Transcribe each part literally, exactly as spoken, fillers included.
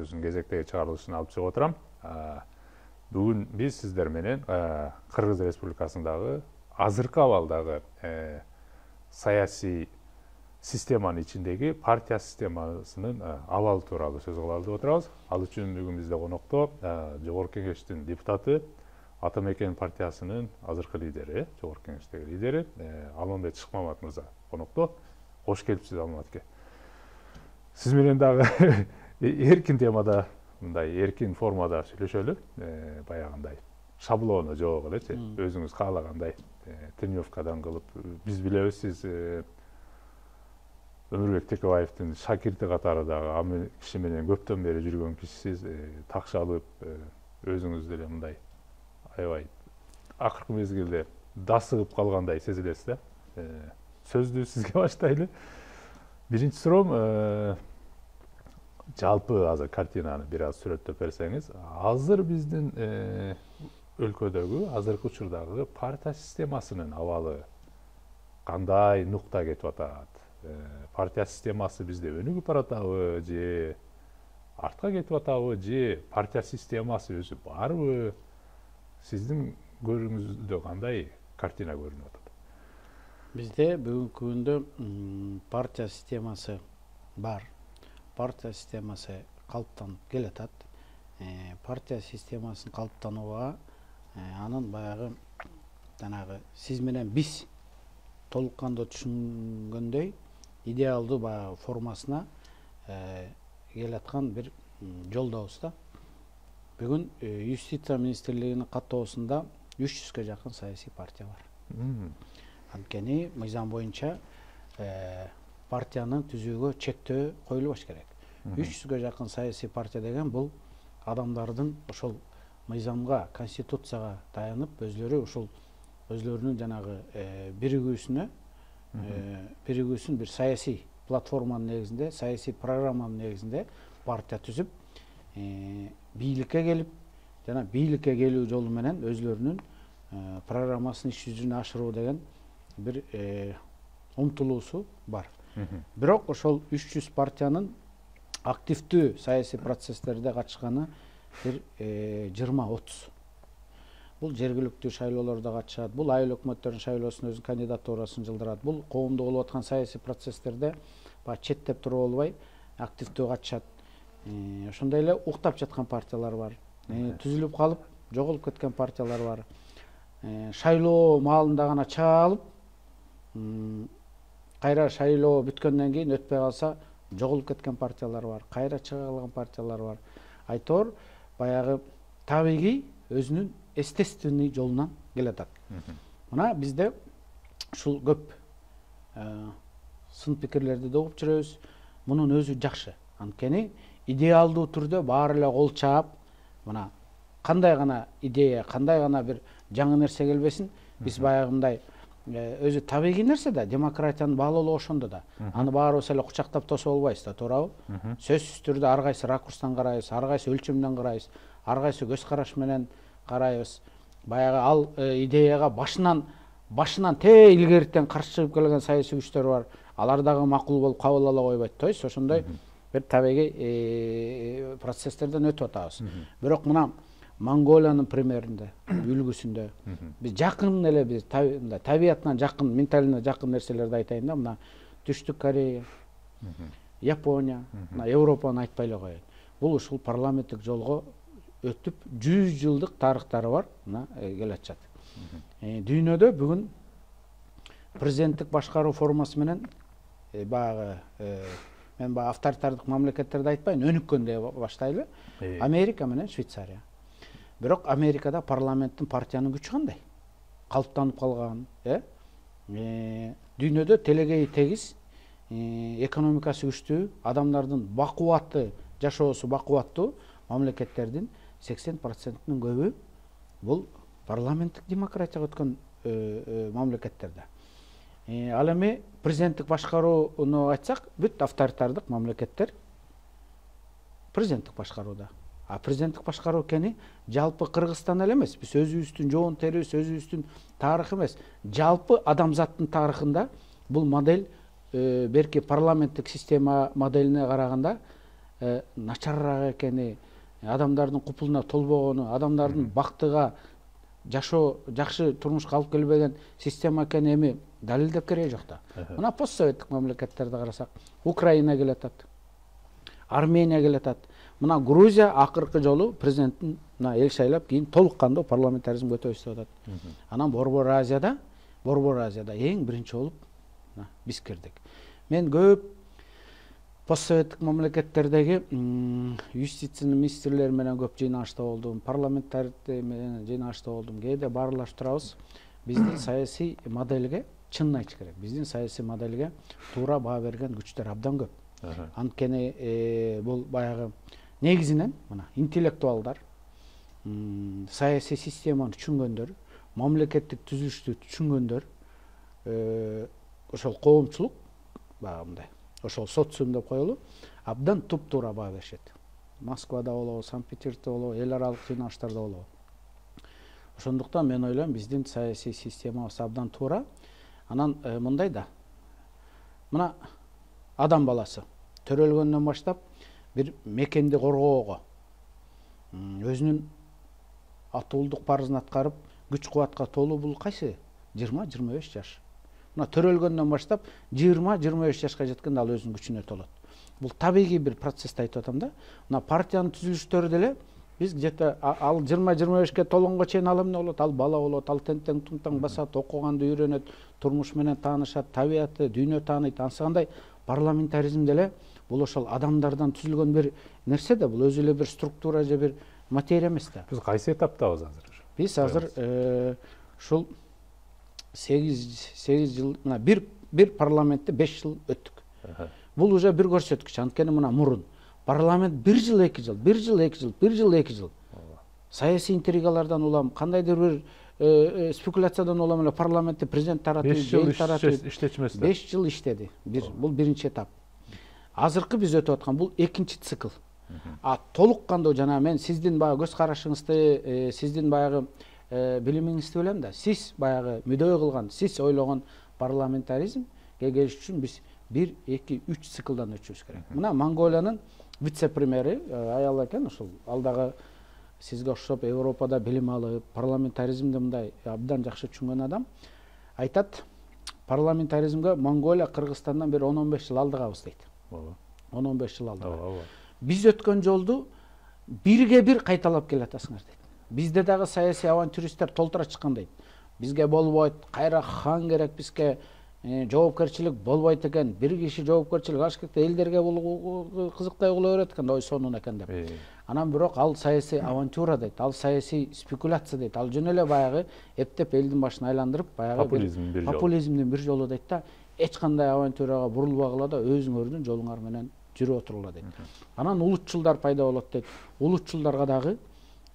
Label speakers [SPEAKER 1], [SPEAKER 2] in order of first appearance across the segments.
[SPEAKER 1] кезектеги чыгарылышын алып чыгып отурам. Бүгүн биз сиздер менен Кыргыз Республикасындагы азыркы абалдагы саясий системанын ичиндеги партия системасынын абалы тууралуу сөз кылалы деп отурабыз. Ал үчүн бүгүн бизде конокто Жогорку Кеңештин депутаты, Ата Мекен партиясынын азыркы лидери, Жогорку Кеңештеги лидери Алмамбет Шыкмамат мырза конокто. Кош келипсиз, Алмамбет аке. Сиз менен дагы эркин темада, мындай эркин формада сүйлөшөлү, баягындай шаблону жок элечи, өзүңүз каалагандай тренировкадан кылып, биз билебиз, сиз Өмүрбек Текебаевдин шакирти катары дагы аны киши менен көптөн бери жүргөн кишисиз, такшалып, өзүңүз деле мындай аябай акыркы мезгилде дасыгып калгандай сезилесиз да. Сөздү сизге баштайлы. Биринчи суроом, жалпы азыр картинаны бир аз сүрөттөп берсеңиз, азыр биздин өлкөдөгү азыркы учурдагы партия системасынын абалы кандай нукта кетип атат? Партия системасы бизде өнүгүп баратабы же артка кетип атабы же партия системасы өзү барбы? Сиздин көрүүңүздө кандай картина көрүнүп атат?
[SPEAKER 2] Бизде бүгүнкү күндө партия системасы бар. Партия системасы калыптанып келатат. Партия системасын калыптанууга анын баягы жанагы сиз менен биз толук кандуу түшүнгөндөй идеалдуу баягы формасына келаткан бир жолдобуз да. Бүгүн Юстиция министрлигинин каттоосунда үч жүзгө жакын саясий партия бар. Анткени мыйзам боюнча партияны түзүүгө чектөө коюлбаш керек. үч жүзгө жакын саясий партия деген бул адамдардын ошол мыйзамга, конституцияга таянып, өзлөрү ушул өзлөрүнүн жанагы биригүүсүнө, биригүүсүн бир саясий платформанын негизинде, саясий программанын негизинде партия түзүп, бийликке келип, жана бийликке келүү жолу менен өзлөрүнүн программасын иш жүзүнө ашыруу деген бир умтулуусу бар. Бирок ошол үч жүз партиянын активдүү саясий процесстерде катышканы бир жыйырма отуз. Бул жергиликтүү шайлоолордо катышат, бул айыл өкмөттөрүнүн шайлоосуна өзүнүн кандидатурасын жылдырат, бул коомдо болуп аткан саясий процесстерде баягы четтеп туруп албай активдүү катышат. Ошондой эле уктап жаткан партиялар бар, түзүлүп калып жоголуп кеткен партиялар бар. Шайлоо маалында гана чыга алып, кайра шайлоо бүткөндөн кийин өтпөй калса жоголуп кеткен партиялар бар, кайра чыга калган партиялар бар. Айтор баягы табигый өзүнүн естественный жолунан келатат. Мына бизде ушул көп сын пикирлерди да угуп жүрөбүз. Мунун өзү жакшы. Анткени идеалдуу түрдө баары эле кол чаап, мына кандай гана идея, кандай гана бир жаңы нерсе келбесин, биз баягындай өзү табигый нерсе да, демократиянын баалуулугу ошондо да. Аны баарыбыз эле кучактап тосуп албайбыз да, туурабы? Сөзсүз түрдө ар кайсы ракурстан карайбыз, ар кайсы өлчөмдөн карайбыз, ар кайсы көз караш менен карайбыз. Баягы ал идеяга башынан башынан те илгеритен каршы чыгып келген саясий күчтөр бар. Алар дагы макул болуп кабыл ала койбойт. То есть ошондой бир табигый процесстерден өтүп атабыз. Бирок мына Монголиянын примеринде, үлгүсүндө биз жакын эле биз табиятынан жакын, менталына жакын нерселерди айтайын да. Мына Түштүк Корея, Япония, мына Европаны айтпай эле коеюн. Бул ушул парламенттик жолго өтүп жүз жылдык тарыхтары бар, мына келатышат. Дүйнөдө бүгүн президенттик башкаруу формасы менен баягы мен баягы авторитардык мамлекеттерди айтпайын, өнүккөн деп баштайлы. Америка менен Швейцария. Бирок Америкада парламенттин партиянын күчү кандай? Калыптанып калган, э? Дүйнөдө телегеи тегиз, экономикасы күчтүү, адамдардын бакубатты, жашоосу бакубаттуу мамлекеттердин сексен процентинин көбү бул парламенттик демократияга өткөн мамлекеттерде. Ал эми президенттик башкарууну айтсак, бүт авторитардык мамлекеттер президенттик башкарууда. А президенттик башкаруу экени жалпы Кыргызстан эле эмес, биз өзүбүздүн жоон терибиз, өзүбүздүн тарыхы эмес, жалпы адамзаттын тарыхында бул модель берки парламенттик система моделине караганда начарыраак экени, адамдардын купулуна толбогону, адамдардын бактыга жашоо жакшы турмушка алып келбеген система экени эми далилдеп кереги жок да. Мына постсоветтик мамлекеттерди карасак, Украина келатат, Армения келатат. Мына Грузия акыркы жолу президенттин эл шайлап кийин толук кандуу парламентаризмге өтөбүз деп атат. Анан Борбор Азияда, Борбор Азияда эң биринчи болуп биз кирдик. Мен көп постсоветтик мамлекеттердеги юстиция министрлери менен көп жыйналышта болдум, парламенттарда менен жыйналышта болдум. Кээде баарлашып турабыз. Биздин саясий моделге чынын айтыш керек. Биздин саясий моделге туура баа берген күчтөр абдан көп. Анткени бул баягы негизинен мына интеллектуалдар, саясий системаны түшүнгөндөр, мамлекеттик түзүлүштү түшүнгөндөр, ошол коомчулук баягы мындай, ошол социум деп коелу, абдан туп-туура баа беришет. Москвада болобу, Санкт-Петербургда болобу, эл аралык жыйналыштарда болобу. Ошондуктан мен ойлойм, биздин саясий системабыз абдан туура. Анан мындай да. Мына адам баласы төрөлгөндөн баштап бир мекенди коргоого, өзүнүн атуулдук парызын аткарып, күч кубатка толуу бул кайсы? жыйырма жыйырма беш жаш. Мына төрөлгөндөн баштап жыйырма жыйырма беш жашка жеткенде ал өзүнүн күчүнө толот. Бул табигый бир процессти айтып атам да. Мына партиянын түзүлүштөрү деле биз где-то ал жыйырма жыйырма бешке толгонго чейин ал эмне болот? Ал бала болот, ал тентең туңтаң басат, окуганды үйрөнөт, турмуш менен таанышат, табиятты, дүйнө тааныйт. Ансыгандай парламентаризм деле бул ошол адамдардан түзүлгөн бир нерсе да, бул өзү эле бир структура же бир материя эмес да.
[SPEAKER 1] Биз кайсы этаптабыз азыр?
[SPEAKER 2] Биз азыр ушул сегиз жыл, мына бир бир парламентте беш жыл өттүк. Бул уже бир көрсөткүч. Анткени мына мурун парламент бир жыл эки жыл, бир жыл эки жыл, бир жыл эки жыл. Саясий интригалардан улам, кандайдыр бир спекуляциядан улам эле парламентте президент таратып, эл таратып
[SPEAKER 1] иштечмес.
[SPEAKER 2] беш жыл иштеди. Бир бул биринчи этап. Азыркы биз өтүп аткан бул экинчи цикл. А толук кандуу жана мен сиздин баягы көз карашыңызды, сиздин баягы билимиңизди билем да. Сиз баягы мүдөө кылган, сиз ойлогон парламентаризмге келиш үчүн биз бир, эки, үч циклдан өтүшүбүз керек. Мына Монголиянын вице-премьери аял экен, ошол алдагы сизге окшоп Европада билим алып, парламентаризмди мындай абдан жакшы түшүнгөн адам айтат, парламентаризмге Монголия Кыргызстандан бир он он беш жыл алдыгабыз дейт. он он беш жыл алдыга. Биз өткөн жолду бирге бир кайталап келатасыңар дейт. Бизде дагы саясий авантюристтер толтура чыккан дейт. Бизге болбойт, кайра хан керек, бизге жоопкерчилик болбойт экен, бир киши жоопкерчилик алыш керек, элдерге бул кызыктай кыла берет экен, ой сонун экен деп. Анан бирок ал саясий авантюра дейт, ал саясий спекуляция дейт, ал жөн эле баягы эптеп элдин башын айландырып, баягы популизмдин бир жолу дейт да, эч кандай авантюрага бурулбагыла да өзүңөрдүн жолуңар менен жүрүп отурула дейт. Анан улутчулдар пайда болот дейт. Улутчулдарга дагы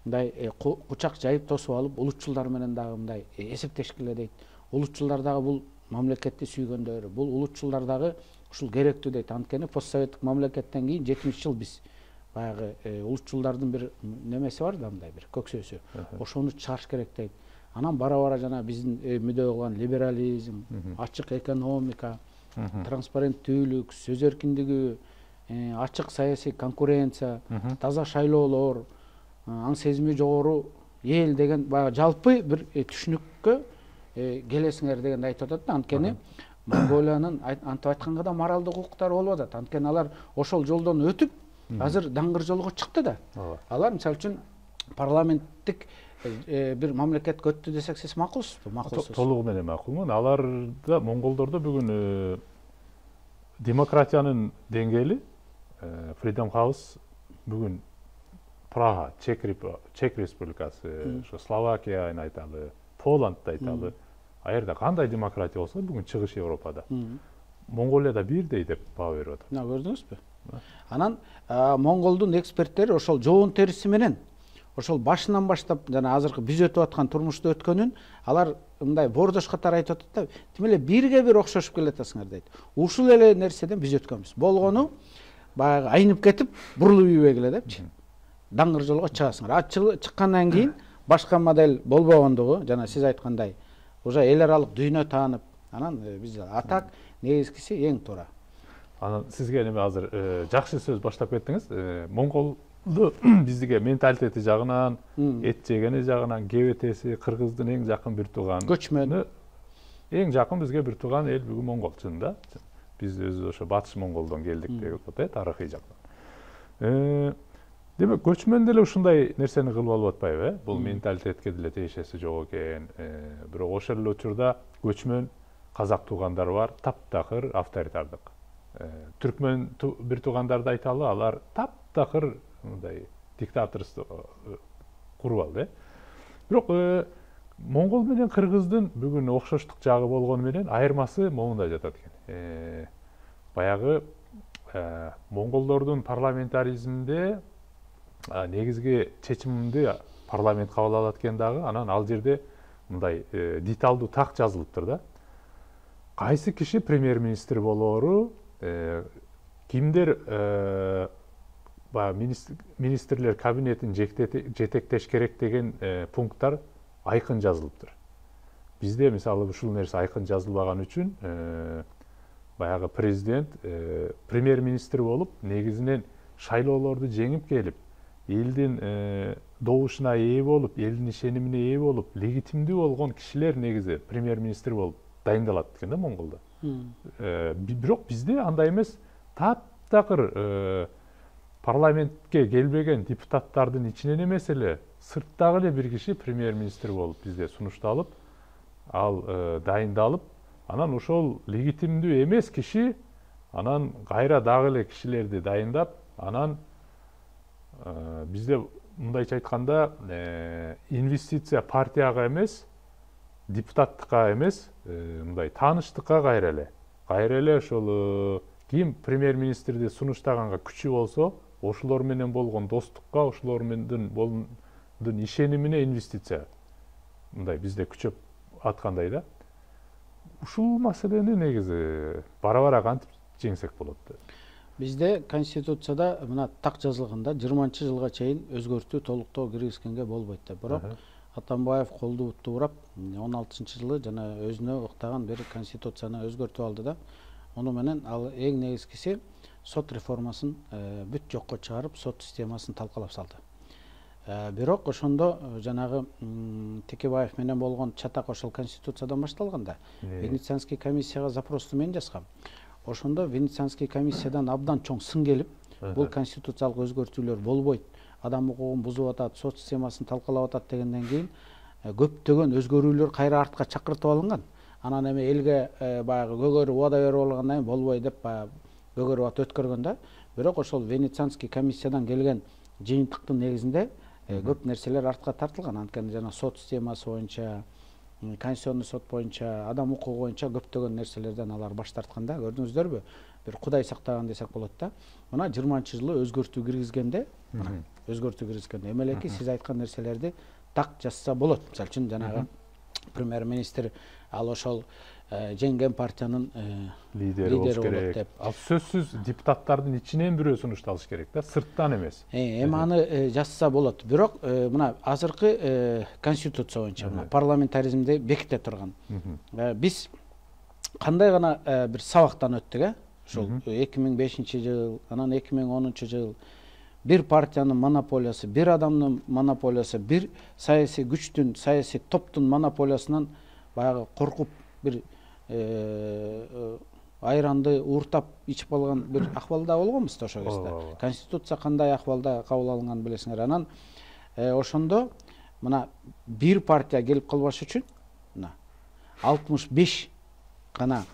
[SPEAKER 2] мындай кучак жайып тосуп алып, улутчулдар менен дагы мындай эсептешкиле дейт. Улутчулдар дагы бул мамлекетти сүйгөндөр, бул улутчулдар дагы ушул керектүү дейт. Анткени постсоветтик мамлекеттен кийин жетимиш жыл биз баягы улутчулдардын бир немеси бар да, мындай бир көксөсү. Ошону чыгарыш керек дейт. Анан бара-бара жана биздин мүдөө кылган либерализм, ачык экономика, транспаrenттүүлүк, сөз эркиндиги, ачык саясий конкуренция, таза шайлоолор, аң сезими жогору эл деген баягы жалпы бир түшүнүккө келесиңер дегенди айтып атат да. Анткени Монголиянын антип айтканда да моралдык укуктары болуп атат. Анткени алар ошол жолдон өтүп азыр даңгыр жолго чыкты да. Алар мисалы үчүн парламенттик бир мамлекетке өттү десек, сиз макулсузбу? Макулсуз.
[SPEAKER 1] Толугу менен макулмун. Аларда, монголдордо бүгүн демократиянын деңгээли, Freedom House бүгүн Прага, Чек Республикасы, Словакияны айталы, Поландды айталы. Аерде кандай демократия болсо бүгүн чыгыш Европада. Монголияда бирдей деп баа берип атат.
[SPEAKER 2] Мына көрдүңүзбү? Анан монголдун эксперттери ошол жоон териси менен ошол башынан баштап жана азыркы биз өтүп аткан турмушту өткөнүн алар мындай бордош катары айтып атат да, тим эле бирге бир окшошуп келатасыңар дейт. Ушул эле нерседен биз өткөнбүз. Болгону баягы айнып кетип, бурулуп ийбегиле эле депчи. Даңгыр жолго чыгасыңар. А чыккандан кийин башка модель болбогондугу, жана сиз айткандай, уже эл аралык дүйнө таанып, анан биз атак негизгиси эң туура.
[SPEAKER 1] Анан сизге эми азыр жакшы сөз баштап кеттиңиз. Монголду биздиге менталитети жагынан, эт жегени жагынан ГБТси кыргыздын эң жакын бир тууганы.
[SPEAKER 2] Көчмөн.
[SPEAKER 1] Эң жакын бизге бир тууган эл бүгүн монгол чынында. Биз өзүбүз ошо батыш монголдон келдик деп атат, тарыхый жактан. Демек, көчмөн деле ушундай нерсени кылып алып атпайбы, э? Бул менталитетке деле тиешеси жок экен. Бирок ошол эле учурда көчмөн казак туугандар бар, таптакыр авторитардык. Түркмөн бир туугандарды айталы, алар таптакыр мындай диктаторство куруп алды. Бирок монгол менен кыргыздын бүгүн окшоштук жагы болгону менен айырмасы момунда жатат экен. Баягы монголдордун парламентаризминде негизги чечимди парламент кабыл алат экен дагы, анан ал жерде мындай деталдуу так жазылыптыр да. Кайсы киши премьер-министр болоору, кимдер министрлер кабинетин жетектеш керек деген пункттар айкын жазылыптыр. Бизде мисалы ушул нерсе айкын жазылбаган үчүн баягы президент премьер-министр болуп, негизинен шайлоолорду жеңип келип, элдин добушуна ээ болуп, элдин ишенимине ээ болуп, легитимдүү болгон кишилер негизи премьер-министр болуп дайындалат экен да Монголдо. Бирок бизде андай эмес, таптакыр парламентке келбеген депутаттардын ичинен эмес эле, сырттагы эле бир киши премьер-министр болуп бизде сунушталып, ал дайындалып, анан ошол легитимдүү эмес киши анан кайра дагы эле кишилерди дайындап, анан бизде мындайча айтканда инвестиция партияга эмес, депутаттыкка эмес, мындай тааныштыкка кайра эле. Кайра эле ошол ким премьер-министрди сунуштаганга күчү болсо, ошолор менен болгон достукка, ошолор менен ишенимине инвестиция. Мындай бизде күчөп аткандай да. Ушул маселени негизи бара-бара кантип жеңсек болот?
[SPEAKER 2] Бизде конституцияда мына так жазылганда жыйырманчы жылга чейин өзгөртүү толуктоо киргизгенге болбойт деп. Бирок Атамбаев колду туурап он алтынчы жылы жана өзүнө ыктаган бир конституцияны өзгөртүп алды да. Ону менен ал эң негизгиси сот реформасын бүт жокко чыгарып, сот системасын талкалап салды. Бирок ошондо жанагы Текебаев менен болгон чатак ошол конституциядан башталганда Венецианский комиссияга запросту мен жазгам. Ошондо Венецианский комиссиядан абдан чоң сын келип, бул конституциялык өзгөртүүлөр болбойт, адам укугун бузуп атат, сот системасын талкалап атат дегенден кийин көптөгөн өзгөрүүлөр кайра артка чакыртып алынган. Анан эми элге баягы көгөрүп убада берип алгандан кийин болбой деп баягы көгөрүп ат өткөргөн да. Бирок ошол Венецианский комиссиядан келген жыйынтыктын негизинде көп нерселер артка тартылган. Анткени жана сот системасы боюнча, конституционный сот боюнча, адам укугу боюнча көптөгөн нерселерден алар баш тартканда, көрдүңүздөрбү? Бир Кудай сактаган десек болот да. Мына жыйырманчы жылы өзгөртүү киргизгенде, мына өзгөртүү киргизгенде эмелеки сиз айткан нерселерди так жазса болот. Мисалы үчүн жанагы премьер-министр ал ошол жеңген партиянын лидери болот деп.
[SPEAKER 1] Ал сөзсүз депутаттардын ичинен бирөө сунушталыш керек да, сырттан эмес.
[SPEAKER 2] Эми аны жазса болот. Бирок мына азыркы конституция боюнча парламентаризмди беките турган. Биз кандай гана бир сабактан өттүк, э? Ушул эки миң бешинчи жыл, анан эки миң онунчу жыл бир партиянын монополиясы, бир адамдын монополиясы, бир саясий күчтүн, саясий топтун монополиясынан баягы коркуп бир айранды ууртап ичип алган бир акыбалда болгонбуз да ошол кезде. Конституция кандай акыбалда кабыл алынган билесиңер. Анан ошондо мына бир партия келип калбаш үчүн мына алтымыш беш гана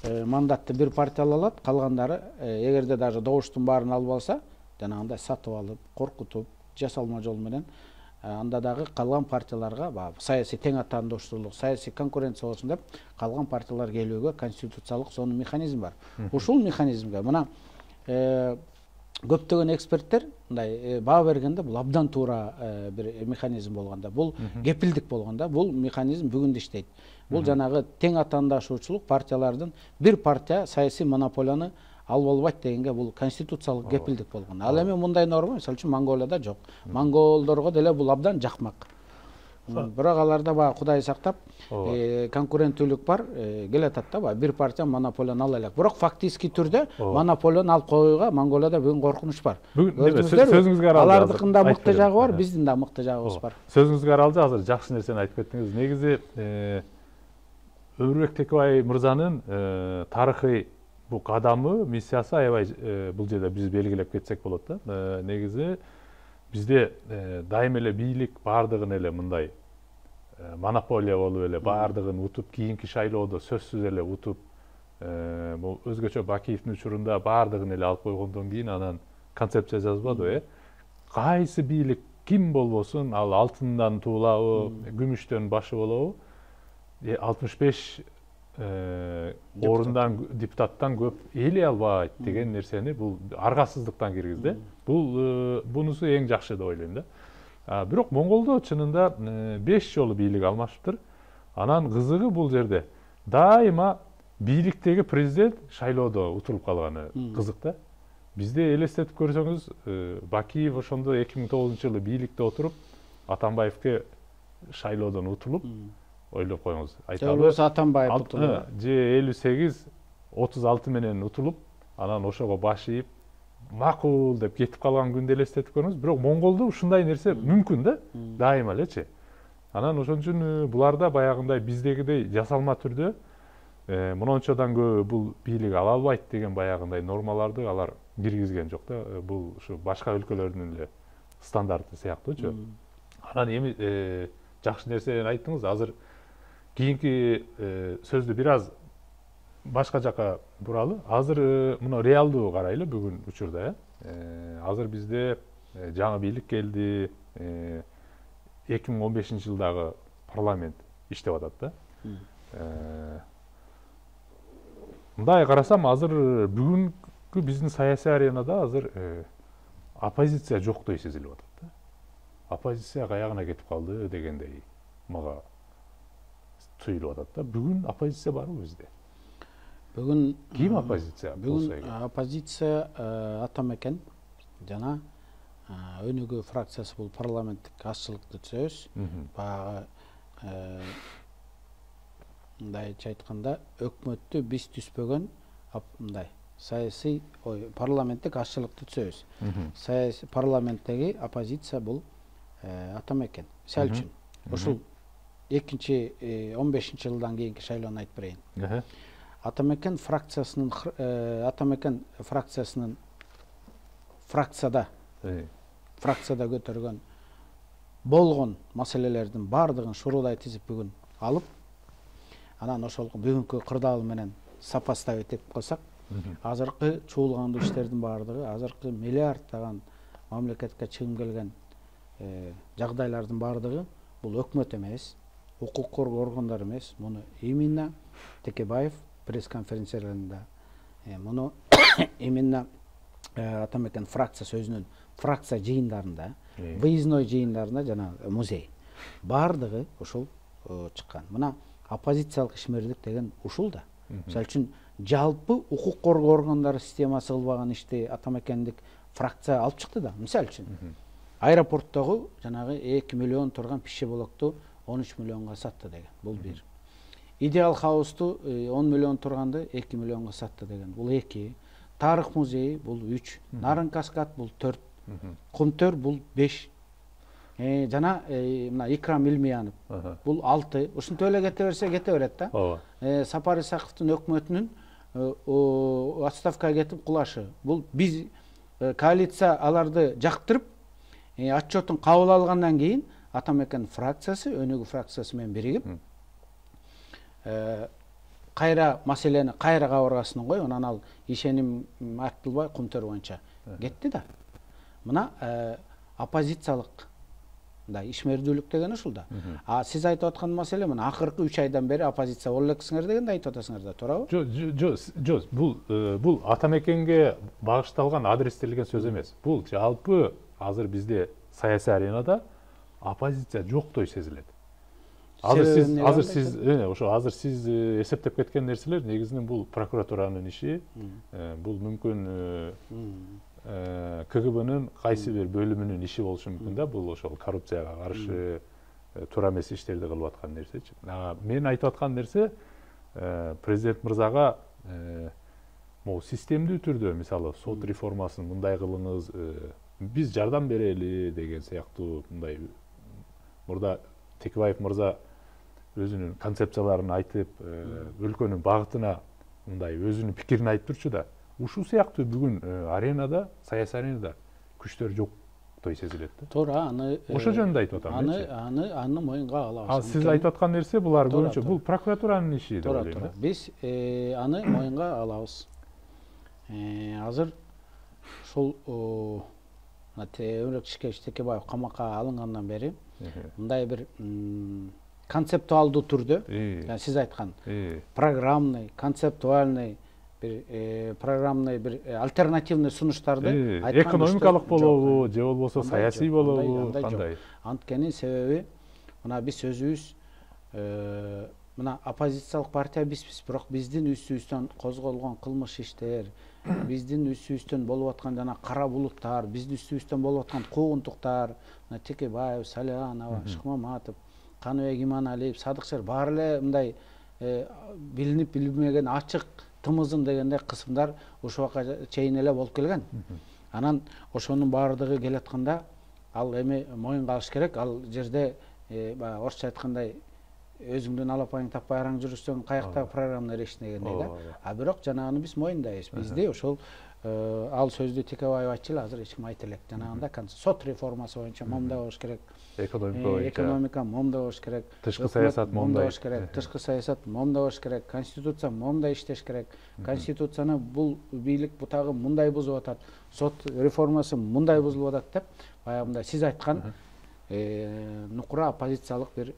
[SPEAKER 2] мандатты бир партия ала алат, калгандары эгерде даже добуштун баарын алып алса, жанагындай сатып алып, коркутуп, жасалма жол менен анда дагы калган партияларга баягы саясий тең атаандоштуулук, саясий конкуренция болсун деп калган партиялар келүүгө конституциялык сонун механизм бар. Ушул механизмге мына көптөгөн эксперттер мындай баа бергенде бул абдан туура бир механизм болгондо, бул кепилдик болгондо, бул механизм бүгүн да иштейт. Бул жанагы тең атаандашуучулук партиялардын бир партия саясий монополияны алып албайт дегенге бул конституциялык кепилдик болгон. Ал эми мындай норма мисалы үчүн Монголияда жок. Монголдорго деле бул абдан жакмак. Бирок аларда баягы Кудай сактап конкуренттүүлүк бар, келатат да, баягы бир партия монополияны ала элек. Бирок фактически түрдө монополияны алып коюуга Монголияда бүгүн коркунуч бар.
[SPEAKER 1] Сөзүңүзгө аралды.
[SPEAKER 2] Алардыкын да мыкты жагы бар, биздин да мыкты жагыбыз бар.
[SPEAKER 1] Сөзүңүзгө аралды, азыр жакшы нерсени айтып кеттиңиз. Негизи Өмүрбек Текебай мырзанын тарыхый бул кадамы, миссиясы аябай бул жерде биз белгилеп кетсек болот да. Негизи бизде дайым эле бийлик баардыгын эле мындай монополия болуп эле баардыгын утуп, кийинки шайлоодо сөзсүз эле утуп, бул өзгөчө Бакиевдин учурунда баардыгын эле алып койгондон кийин анан концепция жазбадыбы, э? Кайсы бийлик ким болбосун, ал алтындан туулабы, күмүштөн башы болобу, алтымыш беш орундан депутаттан көп ээлей албайт деген нерсени бул аргасыздыктан киргизди. Бул бунусу эң жакшы деп ойлойм да. Бирок Монголдо чынында беш жолу бийлик алмашыптыр. Анан кызыгы бул жерде дайыма бийликтеги президент шайлоодо утулуп калганы кызык да. Бизде элестетип көрсөңүз, Бакиев ошондо эки миң тогузунчу жылы бийликте отуруп, Атамбаевке шайлоодон утулуп, ойлоп коюңуз.
[SPEAKER 2] Айталы Атамбаев утулуп,
[SPEAKER 1] же элүү сегиз отуз алты менен утулуп, анан ошого баш ийип, макул деп кетип калган күндү элестетип көрүңүз. Бирок Монголдо ушундай нерсе мүмкүн да, дайыма элечи. Анан ошон үчүн буларда баягындай биздегидей жасалма түрдө мынчадан көп бул бийлик ала албайт деген баягындай нормаларды алар киргизген жок да. Бул ушу башка өлкөлөрдүн эле стандарты сыяктуучу. Анан эми жакшы нерсени айттыңыз. Азыр кийинки сөздү бир аз башка жака буралы. Азыр мына реалдуу карайлы бүгүн учурда, э? Азыр бизде жаңы бийлик келди. эки миң он бешинчи жылдагы парламент иштеп атат да. Мындай карасам, азыр бүгүнкү биздин саясий аренада азыр оппозиция жоктой сезилип атат да. Оппозиция каягына кетип калды дегендей мага туюлуп атат да. Бүгүн оппозиция барбы бизде?
[SPEAKER 2] Бүгүн
[SPEAKER 1] ким оппозиция?
[SPEAKER 2] Бүгүн оппозиция Атамекен жана өнүгүү фракциясы бул парламенттик азчылыкты түзөбүз. Баягы мындайча айтканда өкмөттү биз түзбөгөн мындай саясий ой парламенттик азчылыкты түзөбүз. Саясий парламенттеги оппозиция бул Атамекен. Мисалы үчүн ушул экинчи он бешинчи жылдан кийинки шайлоону айтып берейин. Атамекен фракциясынын Атамекен фракциясынын фракцияда фракцияда көтөргөн болгон маселелердин баардыгын шуруудай тизип бүгүн алып, анан ошол бүгүнкү кырдаал менен сопоставить этип койсок, азыркы чуулгандуу иштердин баардыгы, азыркы миллиарддаган мамлекетке чыгым келген жагдайлардын баардыгы бул өкмөт эмес, укук коргоо органдары эмес, муну именно Текебаев пресс-конференцияларында, муну именно Атамекен фракциясы өзүнүн фракция жыйындарында, выездной жыйындарында жана музей баардыгы ушул чыккан. Мына оппозициялык ишмердик деген ушул да. Мисалы үчүн жалпы укук коргоо органдары системасы кылбаган ишти Атамекендик фракция алып чыкты да. Мисалы үчүн аэропорттогу жанагы эки миллион турган пиши блокту он үч миллионго сатты деген. Бул бир. Идеал хаусту он миллион турганды эки миллионго сатты деген. Бул эки. Тарых музейи бул үч. Нарын каскад бул төрт. Кумтөр бул беш. Жана мына Икрам Илмиянов бул алты. Ушинтип эле кете берсе кете берет да. Сапар Исаковдун өкмөтүнүн отставкага кетип кулашы. Бул биз коалиция аларды жактырып, отчетун кабыл алгандан кийин Атамекен фракциясы, өнүгүү фракциясы менен биригип кайра маселени кайра кабыргасынан коюп, анан ал ишеним артылбай Кумтөр боюнча кетти да. Мына оппозициялык мындай ишмердүүлүк деген ушул да. А сиз айтып аткан маселе мына акыркы үч айдан бери оппозиция боло элексиңер дегенди айтып атасыңар да, туурабы?
[SPEAKER 1] Жок, жок, бул бул Атамекенге багышталган адрестелген сөз эмес. Бул жалпы азыр бизде саясий аренада оппозиция жоктой сезилет. Азыр сиз азыр сиз ошо азыр сиз эсептеп кеткен нерселер негизинен бул прокуратуранын иши, бул мүмкүн КГБнын кайсы бир бөлүмүнүн иши болушу мүмкүн да. Бул ошол коррупцияга каршы туура эмес иштерди кылып аткан нерсечи. Мен айтып аткан нерсе президент мырзага могу системдүү түрдө мисалы сот реформасын мындай кылыңыз, биз жардам берели деген сыяктуу мындай мурда Текебаев мырза өзүнүн концепцияларын айтып, өлкөнүн багытына мындай өзүнүн пикирин айтып турчу да. Ушул сыяктуу бүгүн аренада, саясий аренада күчтөр жоктой сезилет да.
[SPEAKER 2] Туура, аны
[SPEAKER 1] ошо жөнүндө айтып атам.
[SPEAKER 2] Аны аны аны моюнга алабыз.
[SPEAKER 1] А сиз айтып аткан нерсе булар көбүнчө бул прокуратуранын иши деп ойлойм.
[SPEAKER 2] Туура, биз аны моюнга алабыз. Азыр ушул Темирбек Ишкевич Текебаев камакка алынгандан бери мындай бир концептуалдуу түрдө, сиз айткан программный, концептуальный бир программный бир альтернативный сунуштарды
[SPEAKER 1] айткан. Экономикалык болобу, же болбосо саясий болобу, кандай?
[SPEAKER 2] Анткени себеби мына биз өзүбүз мына оппозициялык партия бизбиз, бирок биздин үстүбүздөн козголгон кылмыш иштер, биздин үстүбүздөн болуп аткан жана кара булуттар, биздин үстүбүздөн болуп аткан куугунтуктар, мына Текебаев, Салианова, Шыкмаматов, Каныбек Иманалиев, Садыкчер баары эле мындай билинип билинбеген ачык тымызым дегендей кысымдар ушул убакка чейин эле болуп келген. Анан ошонун баардыгы келатканда ал эми моюнга алыш керек. Ал жерде баягы орусча айткандай өзүңдүн алапайың таппай араң жүрүшсөң каяктагы программный решение дегендей да. А бирок жанагыны биз моюндайбыз. Бизде ошол ал сөздү Текебаев айтчу эле, азыр эч ким айта элек. Жанагындай сот реформасы боюнча момундай болуш керек.
[SPEAKER 1] Экономика боюнча.
[SPEAKER 2] Экономика момундай болуш керек.
[SPEAKER 1] Тышкы саясат момундай
[SPEAKER 2] болуш керек. Тышкы саясат момундай болуш керек. Конституция момундай иштеш керек. Конституцияны бул бийлик бутагы мындай бузуп атат. Сот реформасы мындай бузулуп атат деп баягындай сиз айткан нукура оппозициялык бир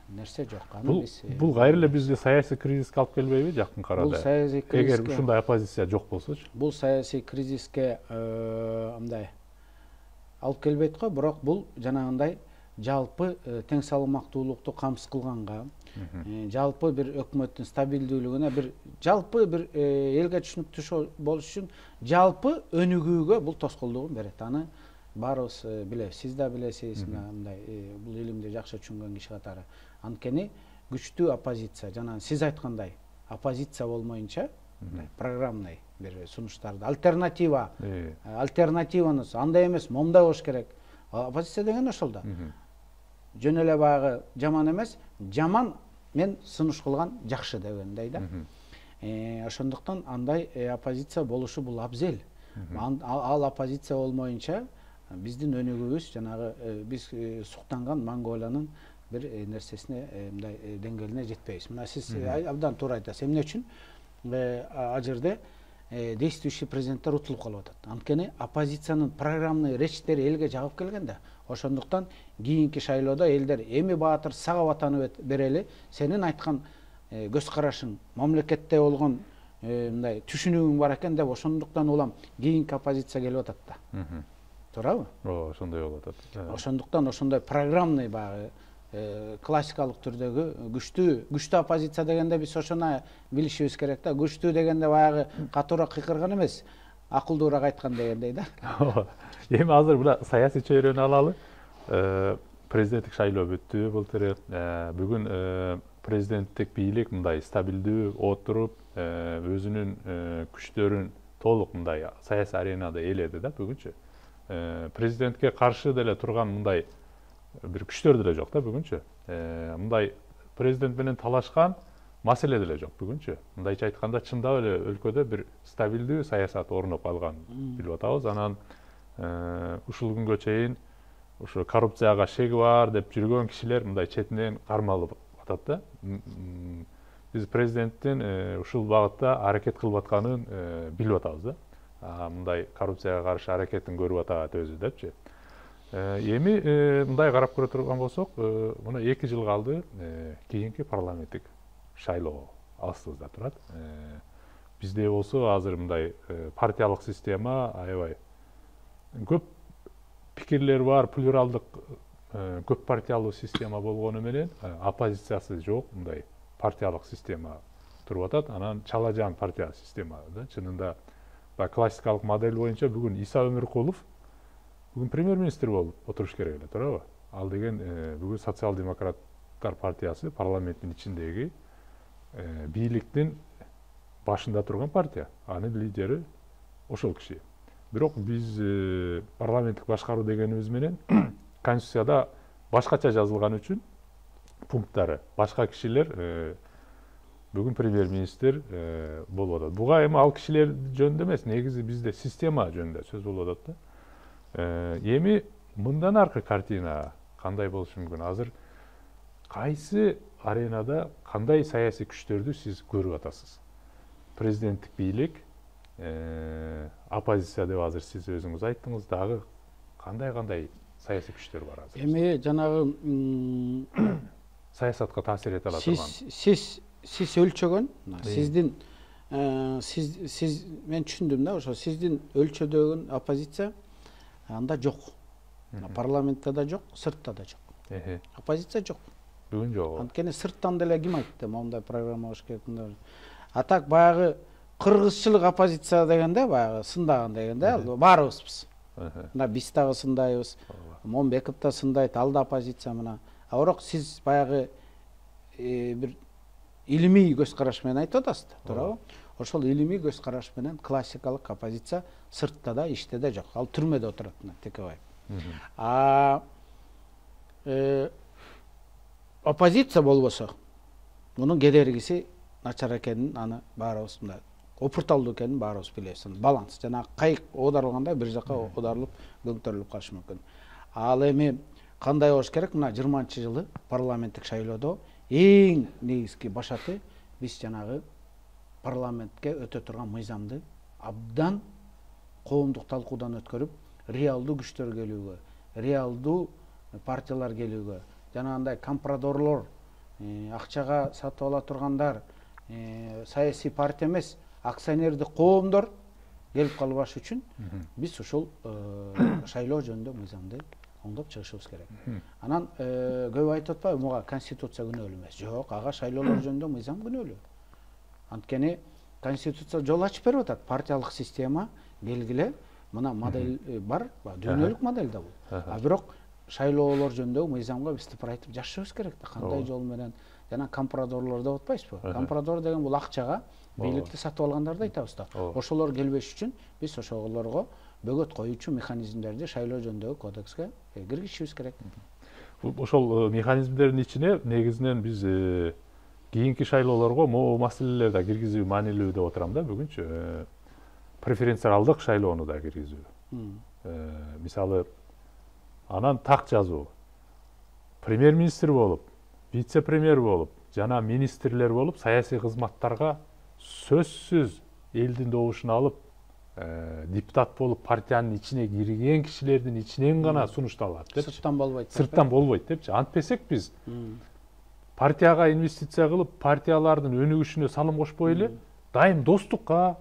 [SPEAKER 2] нерсе жок.
[SPEAKER 1] Бул бул кайра эле бизди саясий кризиске алып келбейби жакын арада?
[SPEAKER 2] Бул саясий кризиске,
[SPEAKER 1] эгер ушундай оппозиция жок болсочу?
[SPEAKER 2] Бул саясий кризиске мындай алып келбейт го, бирок бул жанагындай жалпы тең салмактуулукту камсыз кылганга, жалпы бир өкмөттүн стабилдүүлүгүнө, бир жалпы бир элге түшүнүктүү болуш үчүн жалпы өнүгүүгө бул тоскоолдугун берет. Аны баарыбыз билебиз, сиз да билесиз, мындай бул илимди жакшы түшүнгөн киши катары. Анткени күчтүү оппозиция, жана сиз айткандай оппозиция болмоюнча, программный бир сунуштарды, альтернатива, альтернативаныз андай эмес, момундай болуш керек. Оппозиция деген ошол да. Жөн эле баягы жаман эмес, жаман мен сунуш кылган жакшы дегендей да. Ошондуктан андай оппозиция болушу бул абзел. Ал оппозиция болмоюнча биздин өнүгүүбүз жанагы биз суктанган Монголиянын бир нерсесине, мындай деңгээлине жетпейбиз. Мына сиз абдан туура айтасыз. Эмне үчүн ал жерде действующий президенттер утулуп калып атат? Анткени оппозициянын программный речьтери элге жагып келген да. Ошондуктан кийинки шайлоодо элдер эми Баатыр сага ватаны берели, сенин айткан көз карашың мамлекетте болгон мындай түшүнүгүң бар экен деп, ошондуктан улам кийинки оппозиция келип атат да. Туурабы?
[SPEAKER 1] Ооба, ошондой болуп атат.
[SPEAKER 2] Ошондуктан ошондой программный баягы классикалык түрдөгү күчтүү күчтүү оппозиция дегенде биз ошону билишибиз керек да. Күчтүү дегенде баягы катуураак кыйкырган эмес, акылдуураак айткан дегендей да.
[SPEAKER 1] Эми азыр мына саясий чөйрөнү алалы. Президенттик шайлоо бүттү былтыр. Бүгүн президенттик бийлик мындай стабилдүү отуруп, өзүнүн күчтөрүн толук мындай саясий аренада ээледи да бүгүнчү. Президентке каршы деле турган мындай бир күчтөр деле жок да бүгүнчү. Мындай президент менен талашкан маселе деле жок бүгүнчү. Мындайча айтканда, чындап эле өлкөдө бир стабилдүү саясат орноп калган билип атабыз. Анан ушул күнгө чейин ушу коррупцияга шеги бар деп жүргөн кишилер мындай четинен кармалып атат да. Биз президенттин ушул багытта аракет кылып атканын билип атабыз да. Мындай коррупцияга каршы аракетин көрүп атат өзү депчи. Эми мындай карап көрө турган болсок, мына эки жыл калды, кийинки парламенттик шайлоо алыстыбызда турат. Бизде болсо азыр мындай партиялык система аябай көп пикирлер бар, плюралдык көп партиялуу система болгону менен оппозициясы жок, мындай партиялык система туруп атат. Анан чала жан партия система да. Чынында классикалык модель боюнча бүгүн Иса Өмүркулов бүгүн премьер-министр болуп отуруш керек эле, туурабы? Ал деген бүгүн социал-демократтар партиясы парламенттин ичиндеги бийликтин башында турган партия. Анын лидери ошол киши. Бирок биз парламенттик башкаруу дегенибиз менен Конституцияда башкача жазылган үчүн пункттары башка кишилер бүгүн премьер-министр болуп атат. Буга эми ал кишилер жөнүндө эмес, негизи бизде система жөнүндө сөз болуп атат да. Эми мындан аркы картина кандай болушу мүмкүн? Азыр кайсы аренада кандай саясий күчтөрдү сиз көрүп атасыз? Президенттик бийлик, оппозиция деп азыр сиз өзүңүз айттыңыз, дагы кандай-кандай саясий күчтөр бар азыр?
[SPEAKER 2] Эми жанагы
[SPEAKER 1] саясатка таасир эте ала турган.
[SPEAKER 2] Сиз сиз өлчөгөн, сиздин сиз сиз мен түшүндүм да, ошо сиздин өлчөдөгүн оппозиция анда жок. Парламентте да жок, сыртта да жок. Оппозиция жок.
[SPEAKER 1] Бүгүн жок.
[SPEAKER 2] Анткени сырттан деле ким айтты, мондай программа болуш керек. А так баягы кыргызчылык оппозиция дегенде, баягы сындаган дегенде баарыбызбыз. Мына биз дагы сындайбыз. Момбеков да сындайт, ал да оппозиция мына. А бирок сиз баягы бир илимий көз караш менен айтып атасыз, туурабы? Ошол илимий көз караш менен классикалык оппозиция сыртта да, ичте да жок. Ал түрмөдө отурат, мына Текебаев. А оппозиция болбосо, мунун кедергиси начар экенин аны баарыбыз мындай опурталдуу экенин баарыбыз билебиз. Баланс, жана кайык оодарылганда бир жака оодарылып, көңтөрүлүп калышы мүмкүн. Ал эми кандай болуш керек? Мына жыйырманчы жылы парламенттик шайлоодо эң негизги башаты биз жанагы парламентке өтө турган мыйзамды абдан коомдук талкуудан өткөрүп, реалдуу күчтөр келүүгө, реалдуу партиялар келүүгө, жанагындай компрадорлор, акчага сатып ала тургандар, саясий партия эмес, акционердик коомдор келип калбаш үчүн биз ушул шайлоо жөнүндө мыйзамды оңдоп чыгышыбыз керек. Анан көп айтып атпайбы, муга конституция күнөөлүү эмес. Жок, ага шайлоолор жөнүндө мыйзам күнөөлүү. Анткени конституция жол ачып берип атат. Партиялык система белгиле, мына модель бар, дүйнөлүк модель да бул. А бирок шайлоолор жөнүндө мыйзамга биз тыпырайтып жашашыбыз керек да, кандай жол менен. Жана компрадорлор деп атпайсызбы? Компрадор деген бул акчага бийликти сатып алгандарды айтабыз да. Ошолор келбеш үчүн биз ошолорго бөгөт коюучу механизмдерди шайлоо жөнүндөгү кодекске киргизишибиз керек.
[SPEAKER 1] Ошол механизмдердин ичине негизинен биз кийинки шайлоолорго могу маселелерди да киргизүү маанилүү деп отурам да бүгүнчү. Преференциалдык шайлоону да киргизүү. Мисалы, анан так жазуу. Премьер-министр болуп, вице-премьер болуп, жана министрлер болуп, саясий кызматтарга сөзсүз элдин добушун алып, депутат болуп партиянын ичине кирген кишилердин ичинен гана сунушталат депчи.
[SPEAKER 2] Сырттан болбойт.
[SPEAKER 1] Сырттан болбойт депчи. Антпесек биз партияга инвестиция кылып, партиялардын өнүгүшүнө салым кошпой эле, дайым достукка,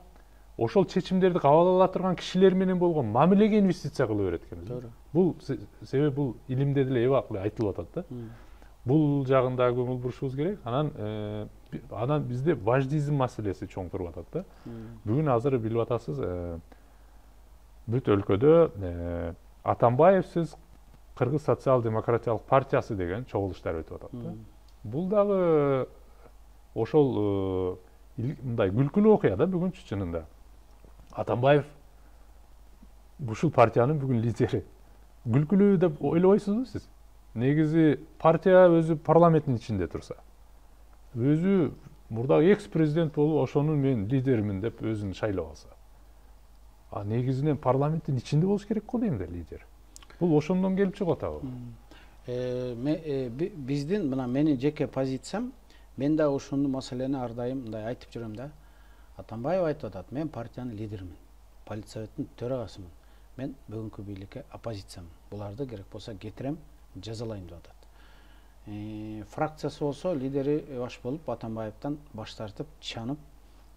[SPEAKER 1] ошол чечимдерди кабыл ала турган кишилер менен болгон мамилеге инвестиция кыла берет экенбиз. Бул себеби бул илимде деле эбакли айтылып атат да. Бул жагында көңүл бурушубуз керек. Анан анан бизде важдизм маселеси чоң туруп атат да. Бүгүн азыр билип атасыз, бүт өлкөдө Атамбаевсиз Кыргыз социал-демократиялык партиясы деген чогулуштар өтүп атат да. Бул дагы ошол мындай күлкүлүү окуя да бүгүнчү чынында. Атамбаев ушул партиянын бүгүн лидери. Күлкүлүү деп ойлобойсузбу сиз? Негизи партия өзү парламенттин ичинде турса, өзү мурдагы экс-президент болуп, ошонун мен лидеримин деп өзүн шайлап алса. А негизинен парламенттин ичинде болуш керек го дейм да лидер. Бул ошондон келип чыгып атабы?
[SPEAKER 2] Биздин мына менин жеке позициям, мен да ушуну маселени ар дайым мындай айтып жүрөм да. Атамбаев айтып атат, мен партиянын лидеримин, политсоветтин төрагасымын. Мен бүгүнкү бийликке оппозициямын. Буларды керек болсо кетирем, жазалайм деп атат. Фракциясы болсо лидери баш болуп Атамбаевден баш тартып, чанып,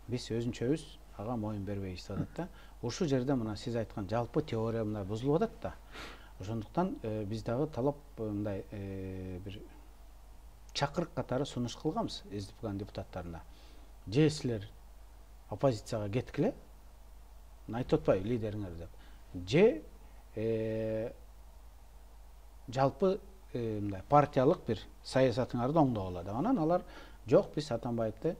[SPEAKER 2] биз өзүнчөбүз ага моюн бербейбиз деп атат да. Ушул жерде мына сиз айткан жалпы теория мындай бузулуп атат да. Ошондуктан биз дагы талап мындай бир чакырык катары сунуш кылганбыз СДПКнын депутаттарына. Же силер оппозицияга кеткиле, айтып атпайбы лидериңер деп. Же жалпы мындай партиялык бир саясатыңарды оңдогула деп. Анан алар жок, биз Атамбаевди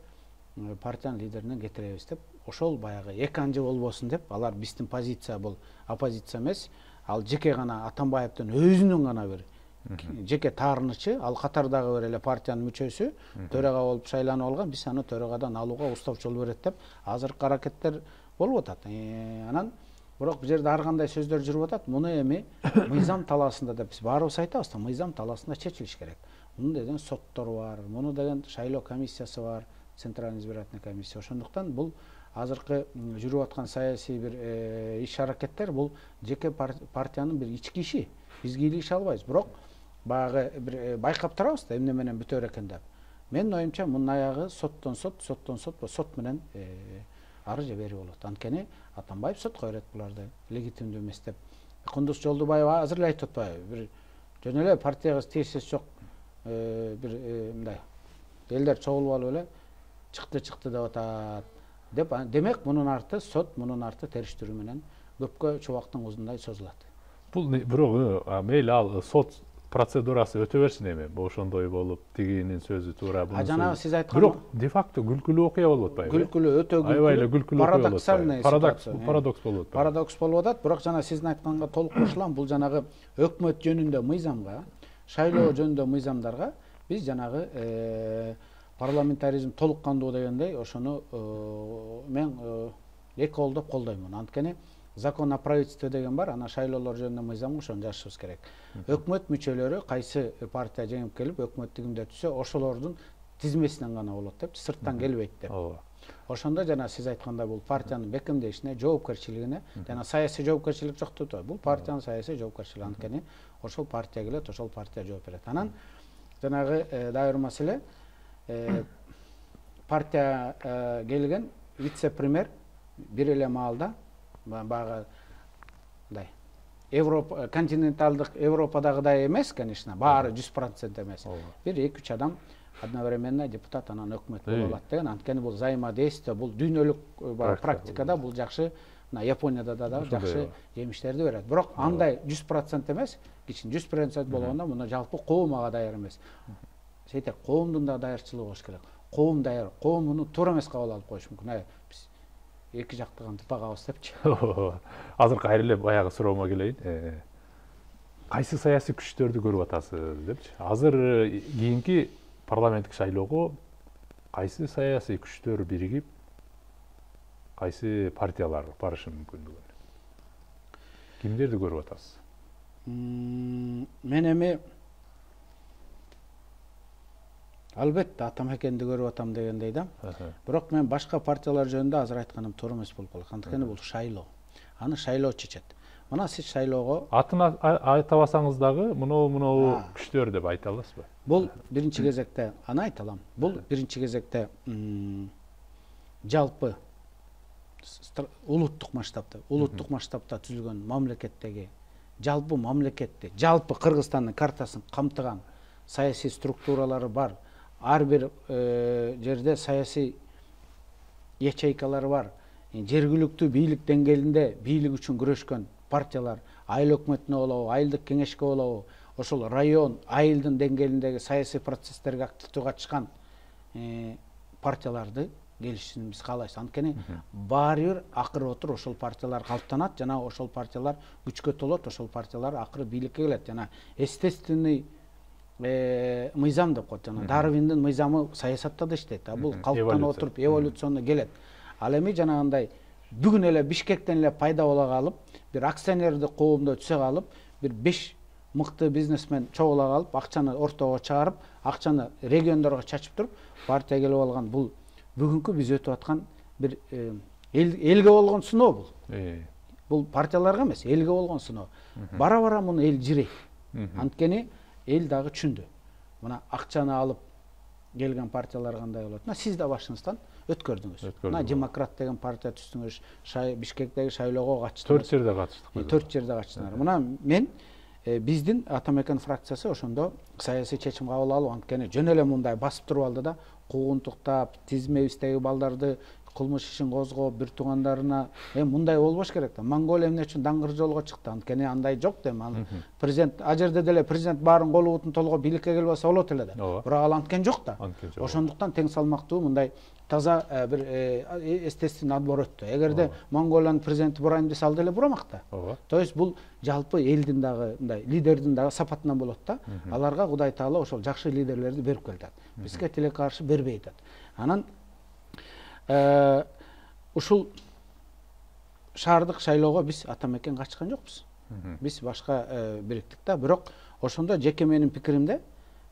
[SPEAKER 2] партиянын лидерине кетиребиз деп, ошол баягы эки анжы болбосун деп, алар биздин позиция бул оппозиция эмес, ал жеке гана Атамбаевдин өзүнүн гана бир жеке таарынычы, ал катардагы бир эле партиянын мүчөсү төрага болуп шайланып алган, биз аны төрагадан алууга уставчы боло берет деп азыркы аракеттер болуп атат. Анан бирок бул жерде ар кандай сөздөр жүрүп атат. Муну эми мыйзам талаасында деп биз баарыбыз айтабыз да, мыйзам талаасында чечилиш керек. Муну деген соттор бар, муну деген шайлоо комиссиясы бар, Центральный избирательный комиссия. Ошондуктан бул азыркы жүрүп аткан саясий бир иш аракеттер бул жеке партиянын бир ички иши. Биз кийлигише албайбыз. Бирок баягы бир байкап турабыз да, эмне менен бүтөр экен деп. Менин оюмча мунун аягы соттон сот, соттон сот, сот менен ары же бери болот. Анткени Атамбаев сотко берет буларды легитимдүү эмес деп. Кундуз Жолдубаев азыр эле айтып атпайбы? Бир жөн эле партияга тиешеси жок бир мындай элдер чогулуп алып эле чыкты чыкты деп атат деп. Демек мунун арты сот, мунун арты териштирүү менен көпкө чубактын узундай созулат.
[SPEAKER 1] Бул бирок мейли ал сот процедурасы өтө берсин эми, ошондой болуп, тигинин сөзү туура, бунун.
[SPEAKER 2] А жанагы сиз айткан
[SPEAKER 1] бирок де факто күлкүлүү окуя болуп атпайбы?
[SPEAKER 2] Күлкүлүү, өтө күлкүлүү.
[SPEAKER 1] Аябай эле күлкүлүү окуя болуп атпайбы? Парадокс, парадокс болуп атпайбы?
[SPEAKER 2] Парадокс болуп атат, бирок жана сиздин айтканга толук кошулам. Бул жанагы өкмөт жөнүндө мыйзамга, шайлоо жөнүндө мыйзамдарга биз жанагы парламентаризм толук кандуу дегендей ошону мен эки колдоп колдоймун. Анткени закон о правительстве деген бар, ана шайлоолор жөнүндө мыйзамга ошону жазышыбыз керек. Өкмөт мүчөлөрү кайсы партия жеңип келип өкмөт тигимде түшсө, ошолордун тизмесинен гана болот деп, сырттан келбейт деп. Ошондо жана сиз айткандай бул партиянын бекемдешине, жоопкерчилигине, жана саясий жоопкерчилик жок деп атпайбы. Бул партиянын саясий жоопкерчилиги. Анткени ошол партия келет, ошол партия жооп берет. Анан жанагы дагы бир маселе, партия келген вице-премьер бир эле маалда баягы мындай Европа, континенталдык Европадагыдай эмес, конечно, баары жүз процент эмес. Бир эки үч адам одновременно депутат, анан өкмөт боло алат деген. Анткени бул взаимодействие, бул дүйнөлүк практикада бул жакшы, мына Японияда да жакшы жемиштерди берет. Бирок андай жүз процент эмес, кичине жүз процент болгондо муну жалпы коом ага даяр эмес. Сейтек, коомдун да даярчылыгы болуш керек. Коом даяр, коом муну туура эмес кабыл алып коюш мүмкүн. Биз эки жактыган тутагабыз депчи.
[SPEAKER 1] Азыр кайра эле баягы суроомо келейин. Кайсы саясий күчтөрдү көрүп атасыз депчи. Азыр кийинки парламенттик шайлоого кайсы саясий күчтөр биригип, кайсы партиялар барышы мүмкүндүгүн? Кимдерди көрүп атасыз?
[SPEAKER 2] Мен эми албетте Атамекенди көрүп атам дегендей да. Бирок мен башка партиялар жөнүндө азыр айтканым туура эмес болуп калат. Анткени бул шайлоо. Аны шайлоо чечет. Мына сиз шайлоого
[SPEAKER 1] атын айта алсаңыз дагы, муну муну күчтөр деп айта аласызбы?
[SPEAKER 2] Бул биринчи кезекте, аны айта алам. Бул биринчи кезекте жалпы улуттук масштабта, улуттук масштабта түзүлгөн мамлекеттеги, жалпы мамлекетти, жалпы Кыргызстандын картасын камтыган саясий структуралары бар. Ар бир жерде саясий ячейкалары бар. Жергиликтүү бийлик деңгээлинде бийлик үчүн күрөшкөн партиялар, айыл өкмөтүнө болобу, айылдык кеңешке болобу, ошол район, айылдын деңгээлиндеги саясий процесстерге активдүү катышкан партияларды келишин биз каалайбыз. Анткени баары бир акыры отур ошол партиялар калыптанат, жана ошол партиялар күчкө толот, ошол партиялар акыры бийликке келет. Жана естественный мыйзам деп коет. Жана Дарвиндин мыйзамы саясатта да иштейт. Бул калыптанып отуруп эволюционно келет. Ал эми жанагындай бүгүн эле Бишкектен эле пайда боло калып, бир акционердик коомдо түшө калып, бир беш мыкты бизнесмен чогула калып, акчаны ортого чыгарып, акчаны региондорго чачып туруп, партия келип алган. Бул бүгүнкү биз өтүп аткан бир элге болгон сыноо бул. Бул партияларга эмес, элге болгон сыноо. Бара-бара муну эл жирейт. Анткени эл дагы түшүндү. Мына акчаны алып келген партиялар кандай болот? Мына сиз да башыңыздан өткөрдүңүз. Мына демократ деген партия түздүңүз, Бишкектеги шайлоого катыштыңыз.
[SPEAKER 1] төрт жерде катыштык.
[SPEAKER 2] төрт жерде катыштыңар. Мына мен биздин Атамекен фракциясы ошондо саясий чечим кабыл алып, анткени жөн эле мындай басып туруп алды да, куугунтуктап, тизмебиздеги балдарды кылмыш ишин козгоп бир туугандарына эми мындай болбош керек да. Монголия эмне үчүн даңгыр жолго чыкты? Анткени андай жок да. Президент а жерде деле президент баарын колу бутун толгоп бийликке келип алса болот эле да. Бирок ал анткен жок да. Ошондуктан тең салмактуу мындай таза бир естественный отбор өттү. Эгерде Монголиянын президенти бурайм десе ал деле бурамак да. То есть бул жалпы элдин дагы мындай лидердин дагы сапатынан болот да. Аларга Кудай Таала ошол жакшы лидерлерди берип келатат. Бизге тиле каршы бербей атат. Анан ушул шаардык шайлоого биз ата мекен качкан жокпуз. Биз башка бириктик да. Бирок ошондо жеке менин пикиримде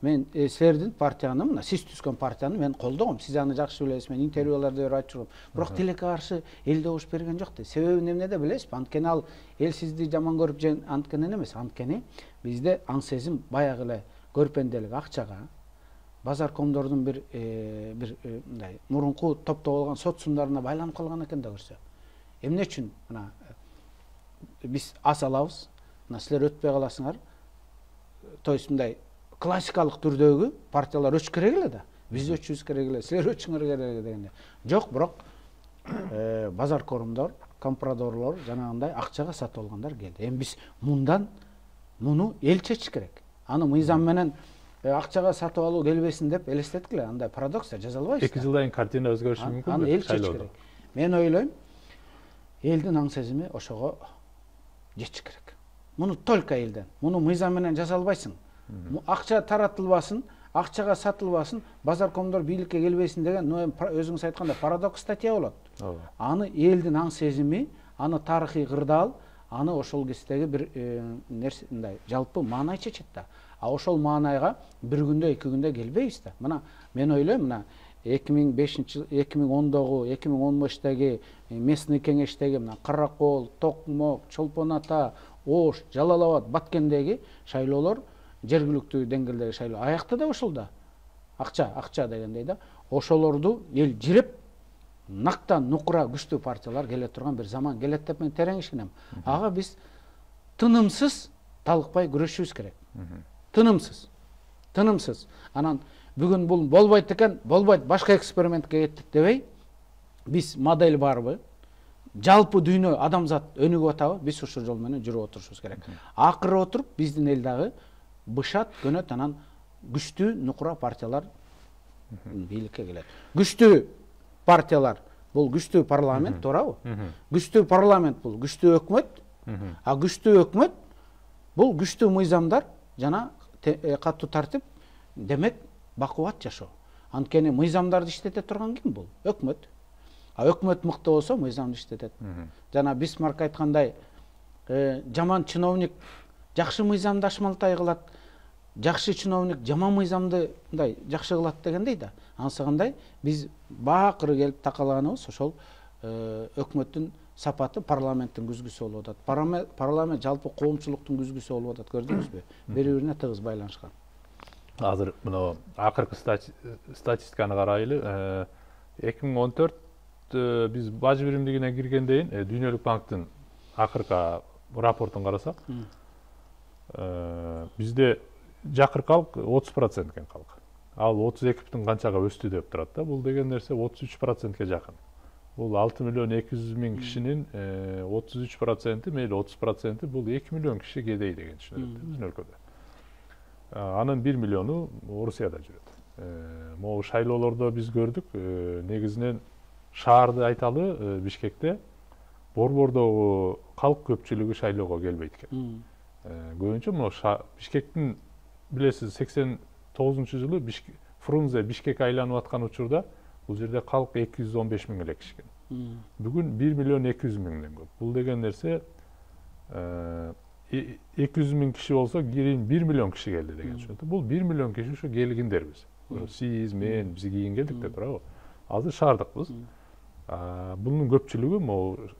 [SPEAKER 2] мен силердин партияны, мына сиз түзгөн партияны мен колдогом. Сиз аны жакшы билесиз. Мен интервьюларда берип айтып жүрөм. Бирок тилекке каршы эл добуш берген жок да. Себебин эмнеде билесизби? Анткени ал эл сизди жаман көрүп жен анткенен эмес. Анткени бизде аң сезим баягы эле көрпенделик акчага базар комдордун бир бир мындай мурунку топто болгон соцсумдарына байланып калган экен да көрсө. Эмне үчүн мына биз ас алабыз, мына силер өтпөй каласыңар. То есть мындай классикалык түрдөгү партиялар өчүш керек эле да. Биз өчүбүз керек эле, силер өчүңөр керек эле дегенде. Жок, бирок базар корумдор, компрадорлор жанагындай акчага сатып алгандар келди. Эми биз мындан муну эл чечиш керек. Аны мыйзам менен акчага сатып алуу келбесин деп элестеттик эле. Андай парадокс да, жаза албайбыз.
[SPEAKER 1] эки жылдан кийин картина өзгөрүшү мүмкүн.
[SPEAKER 2] Аны эл чечиш керек. Мен ойлойм, элдин аң сезими ошого жетиш керек. Муну только элден. Муну мыйзам менен жаза албайсың. Акча таратылбасын, акчага сатылбасын, базар комдор бийликке келбесин деген өзүңүз айткандай парадокс статья болот. Аны элдин аң сезими, аны тарыхый кырдаал, аны ошол кездеги бир нерсе мындай жалпы маанай чечет да. А ошол маанайга бир күндө, эки күндө келбейбиз да. Мына мен ойлойм, мына эки миң бешинчи эки миң ондогу, эки миң он бештеги местный кеңештеги мына Каракол, Токмок, Чолпон Ата, Ош, Жалал Абад, Баткендеги шайлоолор жергиликтүү деңгээлдеги шайлоо аякта да ошол да. Акча, акча дегендей да. Ошолорду эл жиреп нактан нукура күчтүү партиялар келе турган бир заман келет деп мен терең ишенем. Ага биз тынымсыз талыкпай күрөшүбүз керек. Тынымсыз. Тынымсыз. Анан бүгүн бул болбойт экен, болбойт, башка экспериментке кеттик дебей, биз модель барбы? Жалпы дүйнө адамзат өнүгүп атабы? Биз ушул жол менен жүрүп отурушубуз керек. Акыры отуруп биздин эл дагы бышат, көнөт, анан күчтүү нукура партиялар бийликке келет. Күчтүү партиялар бул күчтүү парламент, туурабы? Күчтүү парламент бул күчтүү өкмөт, а күчтүү өкмөт бул күчтүү мыйзамдар жана катуу тартип, демек бакубат жашоо. Анткени мыйзамдарды иштете турган ким бул? Өкмөт. А өкмөт мыкты болсо мыйзамды иштетет. Жана Бисмарк айткандай, жаман чиновник жакшы мыйзамды ашмалтай кылат, жакшы чиновник жаман мыйзамды мындай жакшы кылат дегендей да. Анысы кандай? Биз баакыры келип такалганыбыз ошол өкмөттүн сапаты парламенттин күзгүсү болуп атат. Парламент жалпы коомчулуктун күзгүсү болуп атат, көрдүңүзбү? Бири-бирине тыгыз байланышкан.
[SPEAKER 1] Азыр мына акыркы статистиканы карайлы. эки миң он төрт биз бажы биримдигине киргенден кийин Дүйнөлүк банктын акыркы рапортун карасак, бизде жакыр калк отуз процент экен калк. Ал отуз эки бүтүн канчага өстү деп турат да. Бул деген нерсе отуз үч процентке жакын. Бул алты миллион эки жүз миң кишинин отуз үч проценти, мейли отуз проценти бул эки миллион киши кедей деген түшүнүлөт биздин өлкөдө. Анын бир миллиону Орусияда жүрөт. Могу шайлоолордо биз көрдүк, негизинен шаарды айталы, Бишкекте борбордогу калк көпчүлүгү шайлоого келбейт экен. Көбүнчө могу Бишкектин билесиз сексен тогузунчу жылы Фрунзе Бишкек айланып аткан учурда бул жерде калк эки жүз он беш миң эле киши экен. Бүгүн бир миллион эки жүз миңден көп. Бул деген нерсе эки жүз миң киши болсо, кийин бир миллион киши келди деген түшүнөт. Бул бир миллион киши ушу келгиндербиз. Сиз, мен, биз кийин келдик деп турабы? Азыр шаардыкпыз. Bunun көпчүлүгү могу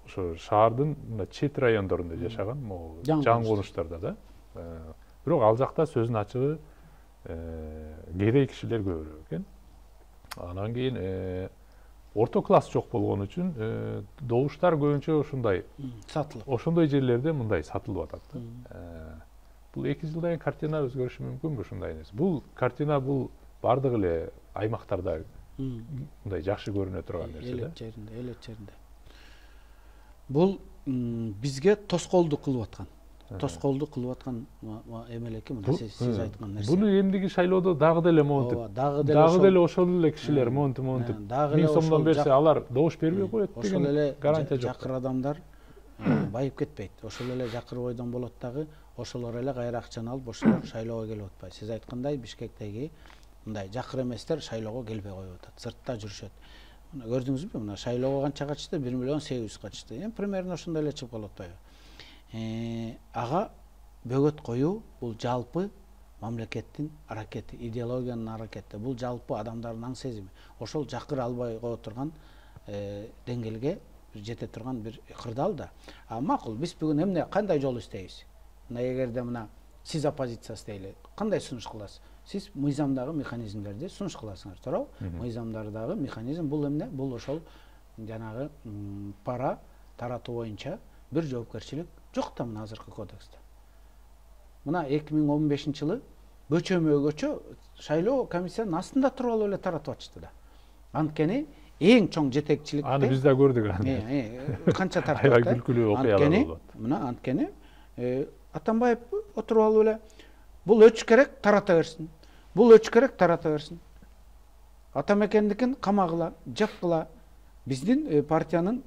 [SPEAKER 1] ошо шаардын чет райондорунда жашаган, могу жан конуштарда да. Бирок ал жакта сөздүн ачыгы кедей кишилер көбүрөөк экен. Анан кийин орто класс жок болгон үчүн добуштар көбүнчө ушундай сатылып. Ошондой жерлерде мындай сатылып атат да. Бул эки жылдан кийин картина өзгөрүшү мүмкүнбү ушундай нерсе? Бул картина бул бардык эле аймактарда мындай жакшы көрүнө турган нерсе да.
[SPEAKER 2] Элек жеринде, элек жеринде. Бул бизге тоскоолдук кылып аткан. Тоскоолдук кылып аткан эмелеки мына сиз айткан нерсе.
[SPEAKER 1] Буну эмдиги шайлоодо дагы деле монтип, дагы деле ошол эле кишилер монтип монтип миң сомдон берсе алар добуш бербей коет деген гарантия жок.
[SPEAKER 2] Жакыр адамдар байып кетпейт. Ошол эле жакыр бойдон болот дагы, ошолор эле кайра акчаны алып ошолор шайлоого келип атпайбы. Сиз айткандай Бишкектеги мындай жакыр эместер шайлоого келбей коюп атат, сыртта жүрүшөт. Мына көрдүңүзбү? Мына шайлоого канча катышты? бир миллион сегиз жүз катышты. Эми примерно ошондой эле чыгып калып атпайбы? Ага бөгөт коюу бул жалпы мамлекеттин аракети, идеологиянын аракети. Бул жалпы адамдардын аң сезими. Ошол жакыр албай кое турган деңгээлге жете турган бир кырдаал да. А макул, биз бүгүн эмне кандай жол издейбиз? Мына эгерде мына сиз оппозициясы дейли, кандай сунуш кыласыз? Сиз мыйзамдагы механизмдерди сунуш кыласыңар, туурабы? Мыйзамдардагы механизм бул эмне? Бул ошол жанагы пара таратуу боюнча бир жоопкерчилик жок да мына азыркы кодексте. Мына эки миң он бешинчи жылы көчөмө көчө шайлоо комиссиянын астында туруп алып эле таратып атышты да. Анткени эң чоң жетекчиликти
[SPEAKER 1] аны биз да көрдүк аны.
[SPEAKER 2] Канча тартып атты.
[SPEAKER 1] Аябай күлкүлүү окуялар болот.
[SPEAKER 2] Мына анткени Атамбаев отуруп алып эле бул өчүш керек, тарата берсин. Бул өчүш керек, тарата берсин. Атамекендикин камагыла, жапкыла. Биздин партиянын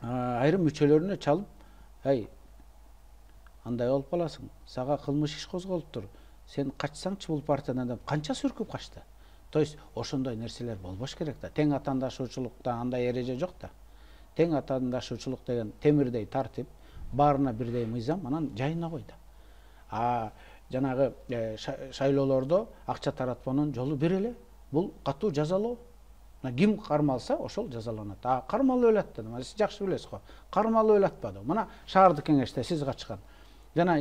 [SPEAKER 2] айрым мүчөлөрүнө чалып, ай, андай болуп каласың, сага кылмыш иш козголуптур. Сен качсаңчы бул партиядан деп канча сүркүп качты. То есть ошондой нерселер болбош керек да. Тең атаандашуучулукта андай эреже жок да. Тең атаандашуучулук деген темирдей тартип, баарына бирдей мыйзам, анан жайына кой да. А жанагы шайлоолордо акча таратпанын жолу бир эле. Бул катуу жазалоо. Ким кармалса, ошол жазаланат. А кармалып эле атты. Сиз жакшы билесиз го. Кармалып эле атпады. Мына шаардык кеңеште сиз качкан. Жана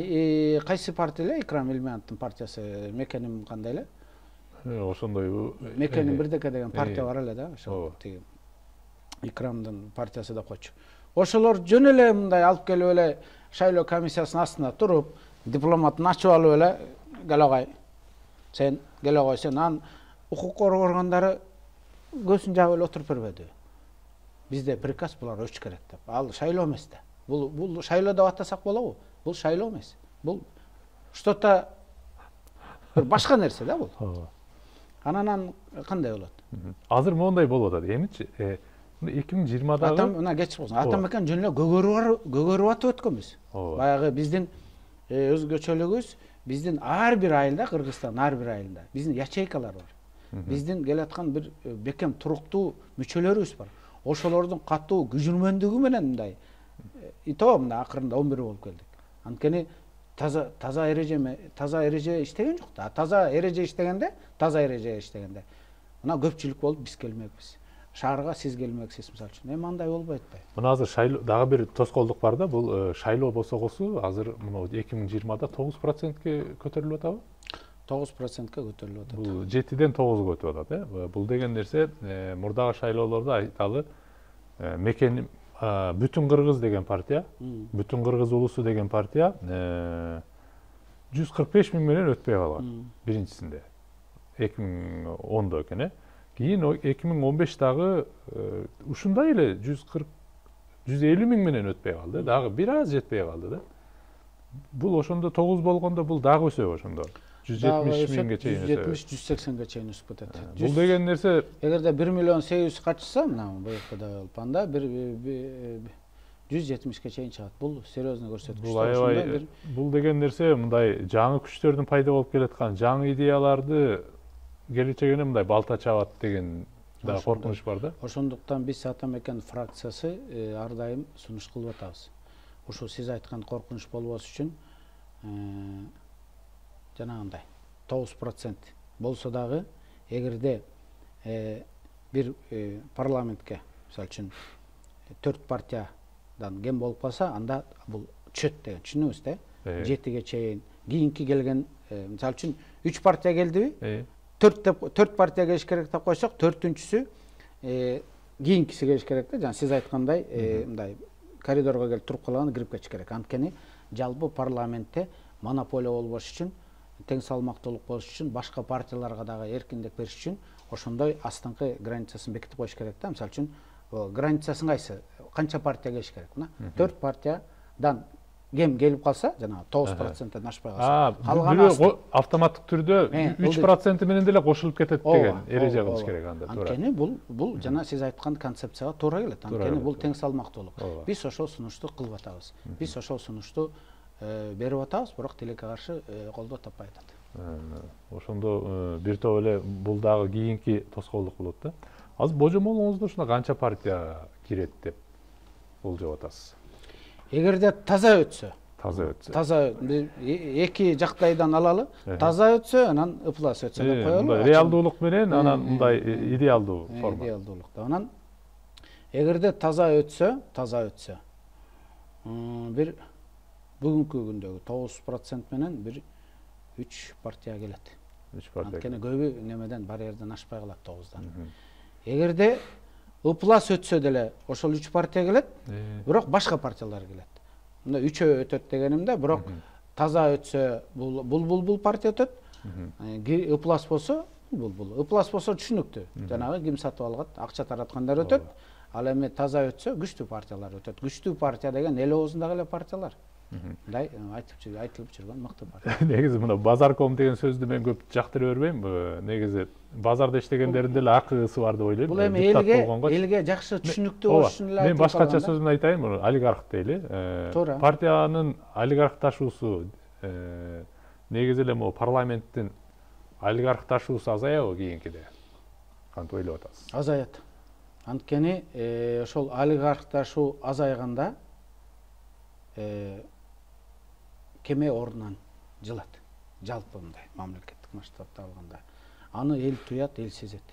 [SPEAKER 2] кайсы партия эле? Икрам Элмеановдун партиясы, мекеним кандай эле?
[SPEAKER 1] Ошондой
[SPEAKER 2] мекеним бирдеке деген партия бар эле да, ошол тиги Икрамдын партиясы деп койчу. Ошолор жөн эле мындай алып келип эле шайлоо комиссиясынын астына туруп, дипломатын ачып алып эле, келогай. Сен келогой, сен анан укук коргоо органдары көзүн жаап эле отуруп бербедиби? Бизде приказ булар өчүш керек деп. Ал шайлоо эмес да. Бул бул шайлоо деп атасак болобу? Бул шайлоо эмес. Бул что-то бир башка нерсе да бул. Анан кандай болот?
[SPEAKER 1] Азыр моундай болуп атат. Эмичи эки миң жыйырмадагы
[SPEAKER 2] Атам мына кечип калсын. Атамекен жөн эле көгөрүп атып өткөнбүз. Баягы биздин өзгөчөлүгүбүз, биздин ар бир айылда, Кыргызстандын ар бир айылында биздин ячейкалар бар. Биздин келаткан бир бекем туруктуу мүчөлөрүбүз бар. Ошолордун катуу күжүрмөндүгү менен мындай ито мына акырында он бир болуп келдик. Анткени таза таза эреже таза эреже иштеген жок да. Таза эреже иштегенде, таза эреже иштегенде мына көпчүлүк болуп биз келмекпиз. Шаарга сиз келмексиз мисалы үчүн. Эми андай болбойт атпайбы?
[SPEAKER 1] Мына азыр шайлоо дагы бир тоскоолдук бар да. Бул шайлоо босогосу азыр мына эки миң жыйырмада тогуз процентке көтөрүлүп атабы?
[SPEAKER 2] тогуз процентке көтөрүлүп атат.
[SPEAKER 1] Бул жетиден тогузга өтүп атат, э? Бул деген нерсе мурдагы шайлоолордо айталы мекен Бүтүн Кыргыз деген партия, Бүтүн Кыргыз улусу деген партия жүз кырк беш миң менен өтпөй калган биринчисинде. эки миң ондо экен, э? Кийин эки миң он бештагы ушундай эле жүз кырк жүз элүү миң менен өтпөй калды. Дагы бир аз жетпей калды да. Бул ошондо тогуз болгондо бул дагы өсөбү ошондо. жүз жетимиш миңге чейин өсөбү. жүз жетимиш жүз сексенге чейин өсүп кетет. Бул деген нерсе
[SPEAKER 2] эгерде бир миллион сегиз жүз качса, мына БКда болуп анда бир жүз жетимишке чейин чыгат. Бул серьезный көрсөткүч.
[SPEAKER 1] Бул аябай бул деген нерсе мындай жаңы күчтөрдүн пайда болуп келаткан, жаңы идеяларды келечегине мындай балта чабат деген да коркунуч бар да.
[SPEAKER 2] Ошондуктан биз Атамекен фракциясы ар дайым сунуш кылып атабыз. Ушул сиз айткан коркунуч болбос үчүн жанагындай тогуз процент болсо дагы, эгерде бир парламентке мисалы үчүн төрт партиядан кем болуп калса, анда бул түшөт деген түшүнүңүз да. жетиге чейин кийинки келген мисалы үчүн үч партия келдиби? төрт партия келиш керек деп койсок, төртүнчүсү кийинкиси келиш керек да. Жана сиз айткандай мындай коридорго келип туруп калган кирип кетиш керек. Анткени жалпы парламентте монополия болбош үчүн тең салмактуулук болуш үчүн башка партияларга дагы эркиндик бериш үчүн ошондой астыңкы границасын бекитип коюш керек да. Мисалы үчүн границасын кайсы? Канча партия келиш керек? Мына төрт партиядан кем келип калса, жана тогуз проценттен ашпай калса,
[SPEAKER 1] калган автоматтык түрдө үч процент менен деле кошулуп кетет деген эреже кылыш керек анда.
[SPEAKER 2] Анткени бул бул жана сиз айткан концепцияга туура келет. Анткени бул тең салмактуулук. Биз ошол сунушту кылып атабыз. Биз ошол сунушту берип атабыз, бирок тилекке каршы колдоо таппай атат.
[SPEAKER 1] Ошондо бир топ эле бул дагы кийинки тоскоолдук болот да. Азыр божомолуңузда ушуна канча партия кирет деп болжоп атасыз?
[SPEAKER 2] Эгерде таза өтсө,
[SPEAKER 1] таза өтсө.
[SPEAKER 2] Таза эки жактайдан алалы, таза өтсө, анан ыплас өтсө деп коелу.
[SPEAKER 1] Реалдуулук менен анан мындай идеалдуу форма.
[SPEAKER 2] Идеалдуулукта. Анан эгерде таза өтсө, таза өтсө, бир бүгүнкү күндөгү тогуз процент менен бир үч партия келет.
[SPEAKER 1] үч партия.
[SPEAKER 2] Анткени көбү немеден барьерден ашпай калат тогуздан. Эгерде ыплас өтсө деле ошол үч партия келет, бирок башка партиялар келет. Мында үчөө өтөт дегенимде, бирок таза өтсө бул бул бул партия өтөт. Ыплас болсо бул бул. Ыплас болсо түшүнүктүү. Жанагы ким сатып алгат, акча тараткандар өтөт. Ал эми таза өтсө күчтүү партиялар өтөт. Күчтүү партия деген эл оозундагы эле партиялар. Мындай айтып жүргөн, айтылып жүргөн мыкты партия.
[SPEAKER 1] Негизи мына базарком деген сөздү мен көп жактыра бербейм. Негизи базарда иштегендердин деле акысы бар деп ойлойм.
[SPEAKER 2] Бул эми элге элге жакшы түшүнүктүү болуш үчүн эле айтып.
[SPEAKER 1] Мен башкача сөзүн айтайын, олигарх дейли. Партиянын олигархташуусу негизи эле могу парламенттин олигархташуусу азаябы кийинкиде? Кантип ойлоп атасыз?
[SPEAKER 2] Азаят. Анткени ошол олигархташуу азайганда кеме ордунан жылат. Жалпы мындай мамлекеттик масштабта алганда. Аны эл туят, эл сезет.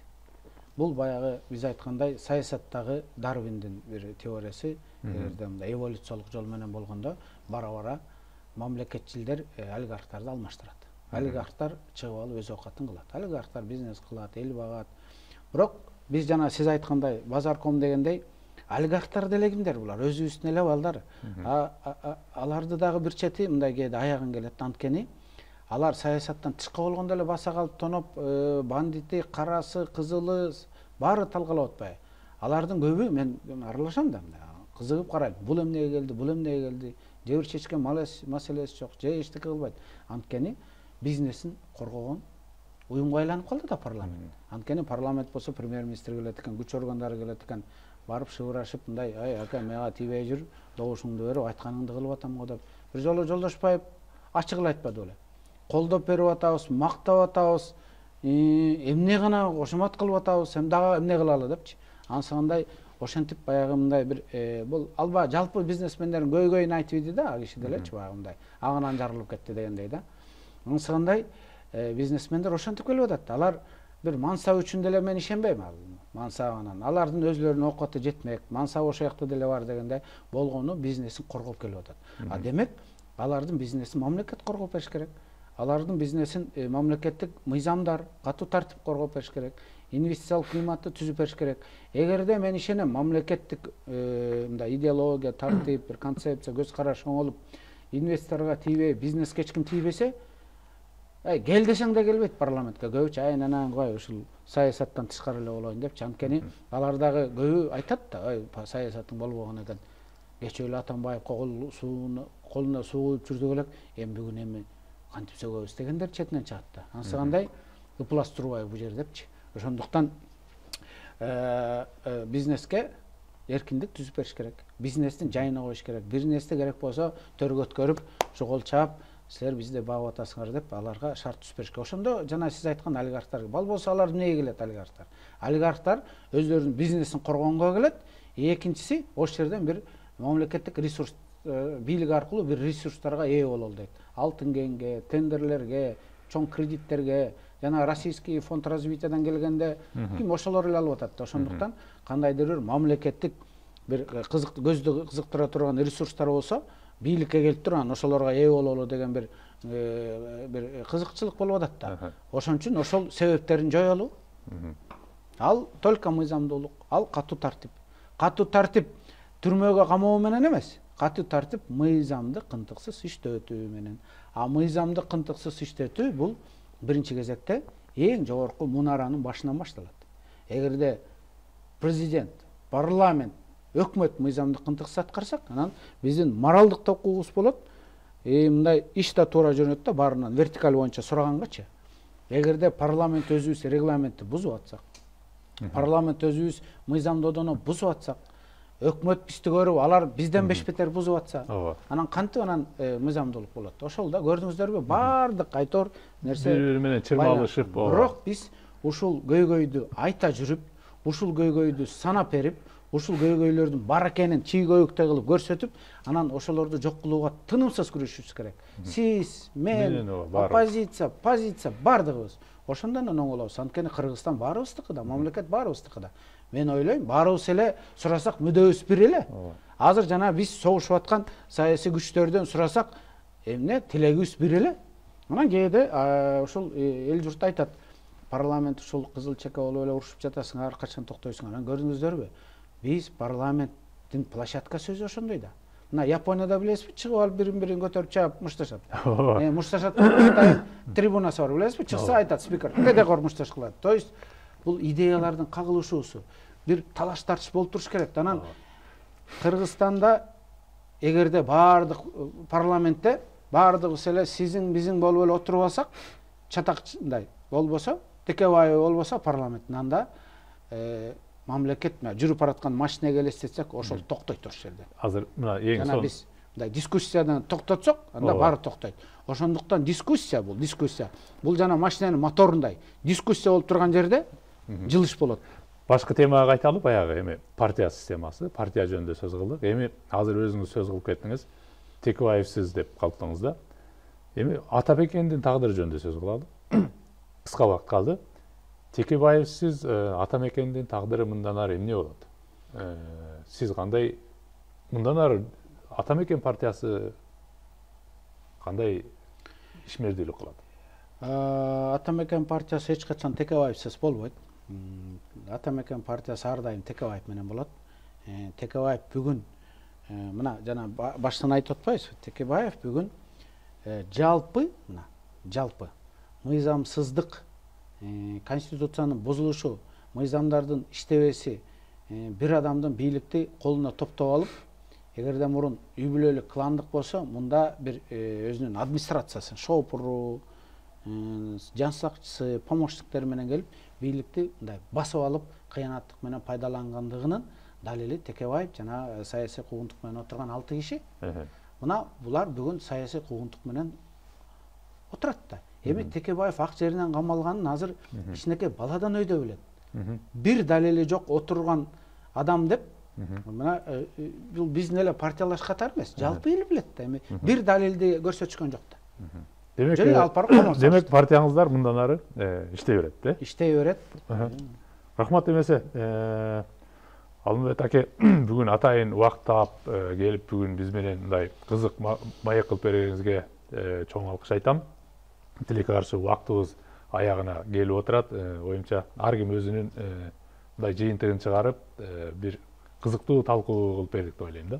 [SPEAKER 2] Бул баягы биз айткандай саясаттагы Дарвиндин бир теориясы, эгерде мындай эволюциялык жол менен болгондо бара-бара мамлекетчилдер олигархтарды алмаштырат. Олигархтар чыгып алып өз оокатын кылат. Олигархтар бизнес кылат, эл багат. Бирок биз жана сиз айткандай базарком дегендей олигархтар деле кимдер булар? Өзүбүздүн эле балдар. Аларды дагы бир чети мындай кээде аягын келет. Анткени алар саясаттан тышкы болгондо эле баса калып тоноп, бандити, карасы, кызылы баары талкалап атпайбы? Алардын көбү мен аралашам да, кызыгып карайм. Бул эмнеге келди, бул эмнеге келди? Жебир чечкен маселеси жок, же эчтеке кылбайт. Анткени бизнесин коргогон уюмга айланып калды да парламент. Анткени парламент болсо премьер-министр келет экен, күч органдары келет экен, барып шыбырашып мындай, ай ака мага тийбей жүр, добушуңду берип айтканыңды кылып атам го деп. Бир жолу Жолдошбаев ачык эле айтпады беле. Колдоп берип атабыз, мактап атабыз, эмне гана кошомат кылып атабыз, эми дагы эмне кылалы депчи. Ансыгандай ошентип баягы мындай бир бул алба жалпы бизнесмендердин көйгөйүн айтып иди да, ал киши делечи баягы мындай агынан жарылып кетти дегендей да. Ансыгандай бизнесмендер ошентип келип атат. Алар бир мансап үчүн деле мен ишенбейм ал мансабынан. Алардын өзлөрүнүн оокаты жетмек, мансап ошол жакта деле бар дегендей болгону бизнесин коргоп келип атат. А демек алардын бизнесин мамлекет коргоп бериш керек. Алардын бизнесин мамлекеттик мыйзамдар, катуу тартип коргоп бериш керек. Инвестициялык климатты түзүп бериш керек. Эгерде мен ишенем мамлекеттик мындай идеология, тартип, бир концепция, көз караш оңолуп, инвесторго тийбей, бизнеске эч ким тийбесе, ай кел десең да келбейт парламентке. Көбүчө ай анан кой ушул саясаттан тышкары эле болоюн депчи. Анткени алар дагы көбү айтат да, ай саясаттын болбогон экен. Кечээ эле Атамбаев кол сууну колуна суу куюп жүрдүк элек, эми бүгүн эми кантип сөгөбүз дегендер четинен чыгат да. Ансыгандай ыплас турбайбы бул жер депчи. Ошондуктан бизнеске эркиндик түзүп бериш керек. Бизнестин жайына коюш керек. Бизнести керек болсо төргө өткөрүп, кол чаап, силер бизди багып атасыңар деп аларга шарт түзүп бериш керек. Ошондо жана сиз айткан олигархтар, ал болсо алар эмнеге келет олигархтар? Олигархтар өздөрүнүн бизнесин коргонгого келет. Экинчиси ошол жерден бир мамлекеттик ресурс бийлик аркылуу бир ресурстарга ээ бололу дейт. Алтын кенге, тендерлерге, чоң кредиттерге, жана российский фонд развитиядан келгенде ким ошолор эле алып атат да. Ошондуктан кандайдыр бир мамлекеттик бир кызык көздү кызыктыра турган ресурстар болсо, бийликке келип туруп анан ошолорго ээ бололу деген бир бир кызыкчылык болуп атат да. Ошон үчүн ошол себептерин жоелу. Ал только мыйзамдуулук, ал катуу тартип. Катуу тартип түрмөгө камоо менен эмес. Катуу тартип мыйзамды кынтыксыз иштетүү менен. А мыйзамды кынтыксыз иштетүү бул биринчи кезекте эң жогорку мунаранын башынан башталат. Эгерде президент, парламент, өкмөт мыйзамды кынтыксыз аткарсак, анан биздин моралдык токугубуз болот. Э мындай иш да туура жүрөт да, баарынан вертикаль боюнча сурагангачы. Эгерде парламент өзүбүз регламентти бузуп атсак, парламент өзүбүз мыйзамдоодону бузуп атсак, өкмөт бизди көрүп алар бизден беш бетер бузуп атса, анан кантип анан мыйзамдуулук болот? Ошол да көрдүңүздөрбү, баардык айтор нерсе
[SPEAKER 1] бири-бири менен чырмалышып,
[SPEAKER 2] бирок биз ушул көйгөйдү айта жүрүп, ушул көйгөйдү санап берип, ушул көйгөйлөрдүн бар экенин чий көйүктөй кылып көрсөтүп, анан ошолорду жок кылууга тынымсыз күрөшүшүбүз керек. Сиз, мен, оппозиция, позиция баардыгыбыз. Ошондон оңолобуз. Анткени Кыргызстан баарыбыздыкы да, мамлекет баарыбыздыкы да. Мен ойлойм, баарыбыз эле сурасак мүдөбүз бир эле. Азыр жана биз согушуп аткан саясий күчтөрдөн сурасак, эмне тилегибиз бир эле. Анан кээде ушул эл журт айтат, парламент ушул кызыл чека болуп эле урушуп жатасыңар, качан токтойсуңар? Анан көрдүңүздөрбү? Биз парламенттин площадкасы өзү ошондой да. Мына Японияда билесизби, чыгып алып бирин-бирин көтөрүп чаап мушташат. Э, мушташат трибунасы бар, билесизби? Чыкса айтат спикер, кедекор мушташ кылат. То есть бул идеялардын кагылышуусу, бир талаш тартыш болуп туруш керек. Анан Кыргызстанда эгерде баардык парламентте баардыгыбыз эле сизин бизин болуп эле отуруп алсак, чатакчындай болбосо, Текебаев болбосо парламенттин анда мамлекет жүрүп бараткан машинеге элестетсек, ошол токтойт туруш жерде.
[SPEAKER 1] Азыр мына эң son
[SPEAKER 2] биз мындай дискуссиядан токтотсок, анда баары токтойт. Ошондуктан дискуссия бул, дискуссия. Бул жана машинанын моторундай. Дискуссия болуп турган жерде жылыш болот.
[SPEAKER 1] Башка темага кайталы, баягы эми партия системасы, партия жөнүндө сөз кылдык. Эми азыр өзүңүз сөз кылып кеттиңиз, Текебаевсиз деп калктыңыз да. Эми Атамекендин тагдыры жөнүндө сөз кылалы. Кыска убакыт калды. Текебаевсиз Атамекендин тагдыры мындан ары эмне болот? Сиз кандай мындан ары Атамекен партиясы кандай ишмердүүлүк кылат?
[SPEAKER 2] Атамекен партиясы эч качан Текебаевсиз болбойт. Атамекен партиясы ар дайым Текебаев менен болот. Текебаев бүгүн мына жана баштан айтып атпайбызбы? Текебаев бүгүн жалпы, мына жалпы мыйзамсыздык, конституциянын бузулушу, мыйзамдардын иштебеси, бир адамдын бийликти колуна топтоп алып, эгерде мурун үй бүлөлүк кландык болсо, мында бир өзүнүн администрациясы, шопуру, жан сакчысы, помощниктери менен келип, бийликти мындай басып алып, кыянаттык менен пайдалангандыгынын далили Текебаев жана саясий куугунтук менен отурган алты киши. Мына булар бүгүн саясий куугунтук менен отурат да. Эми Текебаев ак жеринен камалганын азыр кичинекей баладан өйдө билет. Бир далили жок отурган адам деп, мына бул биздин эле партиялаш катары эмес, жалпы эл билет да. Эми бир далилди көрсөтүшкөн жок да.
[SPEAKER 1] Демек, демек партияңыздар мындан ары иштей берет, да?
[SPEAKER 2] Иштей берет.
[SPEAKER 1] Рахмат эмесе, Алмамбет аке бүгүн атайын убакыт таап келип бүгүн биз менен мындай кызык маек кылып бергениңизге чоң алкыш айтам. Тилекке каршы убактыбыз аягына келип отурат. Оюмча ар ким өзүнүн мындай жыйынтыгын чыгарып, бир кызыктуу талкуу кылып бердик деп ойлойм да.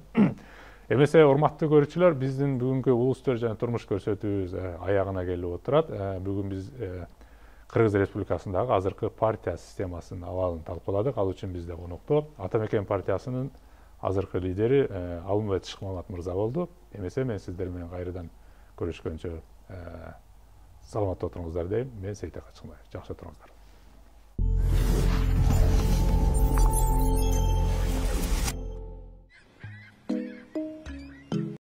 [SPEAKER 1] Эмесе, урматтуу көрүүчүлөр, биздин бүгүнкү улустөр жана турмуш көрсөтүүбүз аягына келип отурат. Бүгүн биз Кыргыз Республикасындагы азыркы партия системасынын абалын талкууладык. Ал үчүн бизде конокто Атамекен партиясынын азыркы лидери Алмамбет Шыкмамат мырза болду. Эмесе, мен сиздер менен кайрадан көрүшкөнчө саламатта отуруңуздар дейм. Мен Сейтек Ачыкмаев. Жакшы отуруңуздар.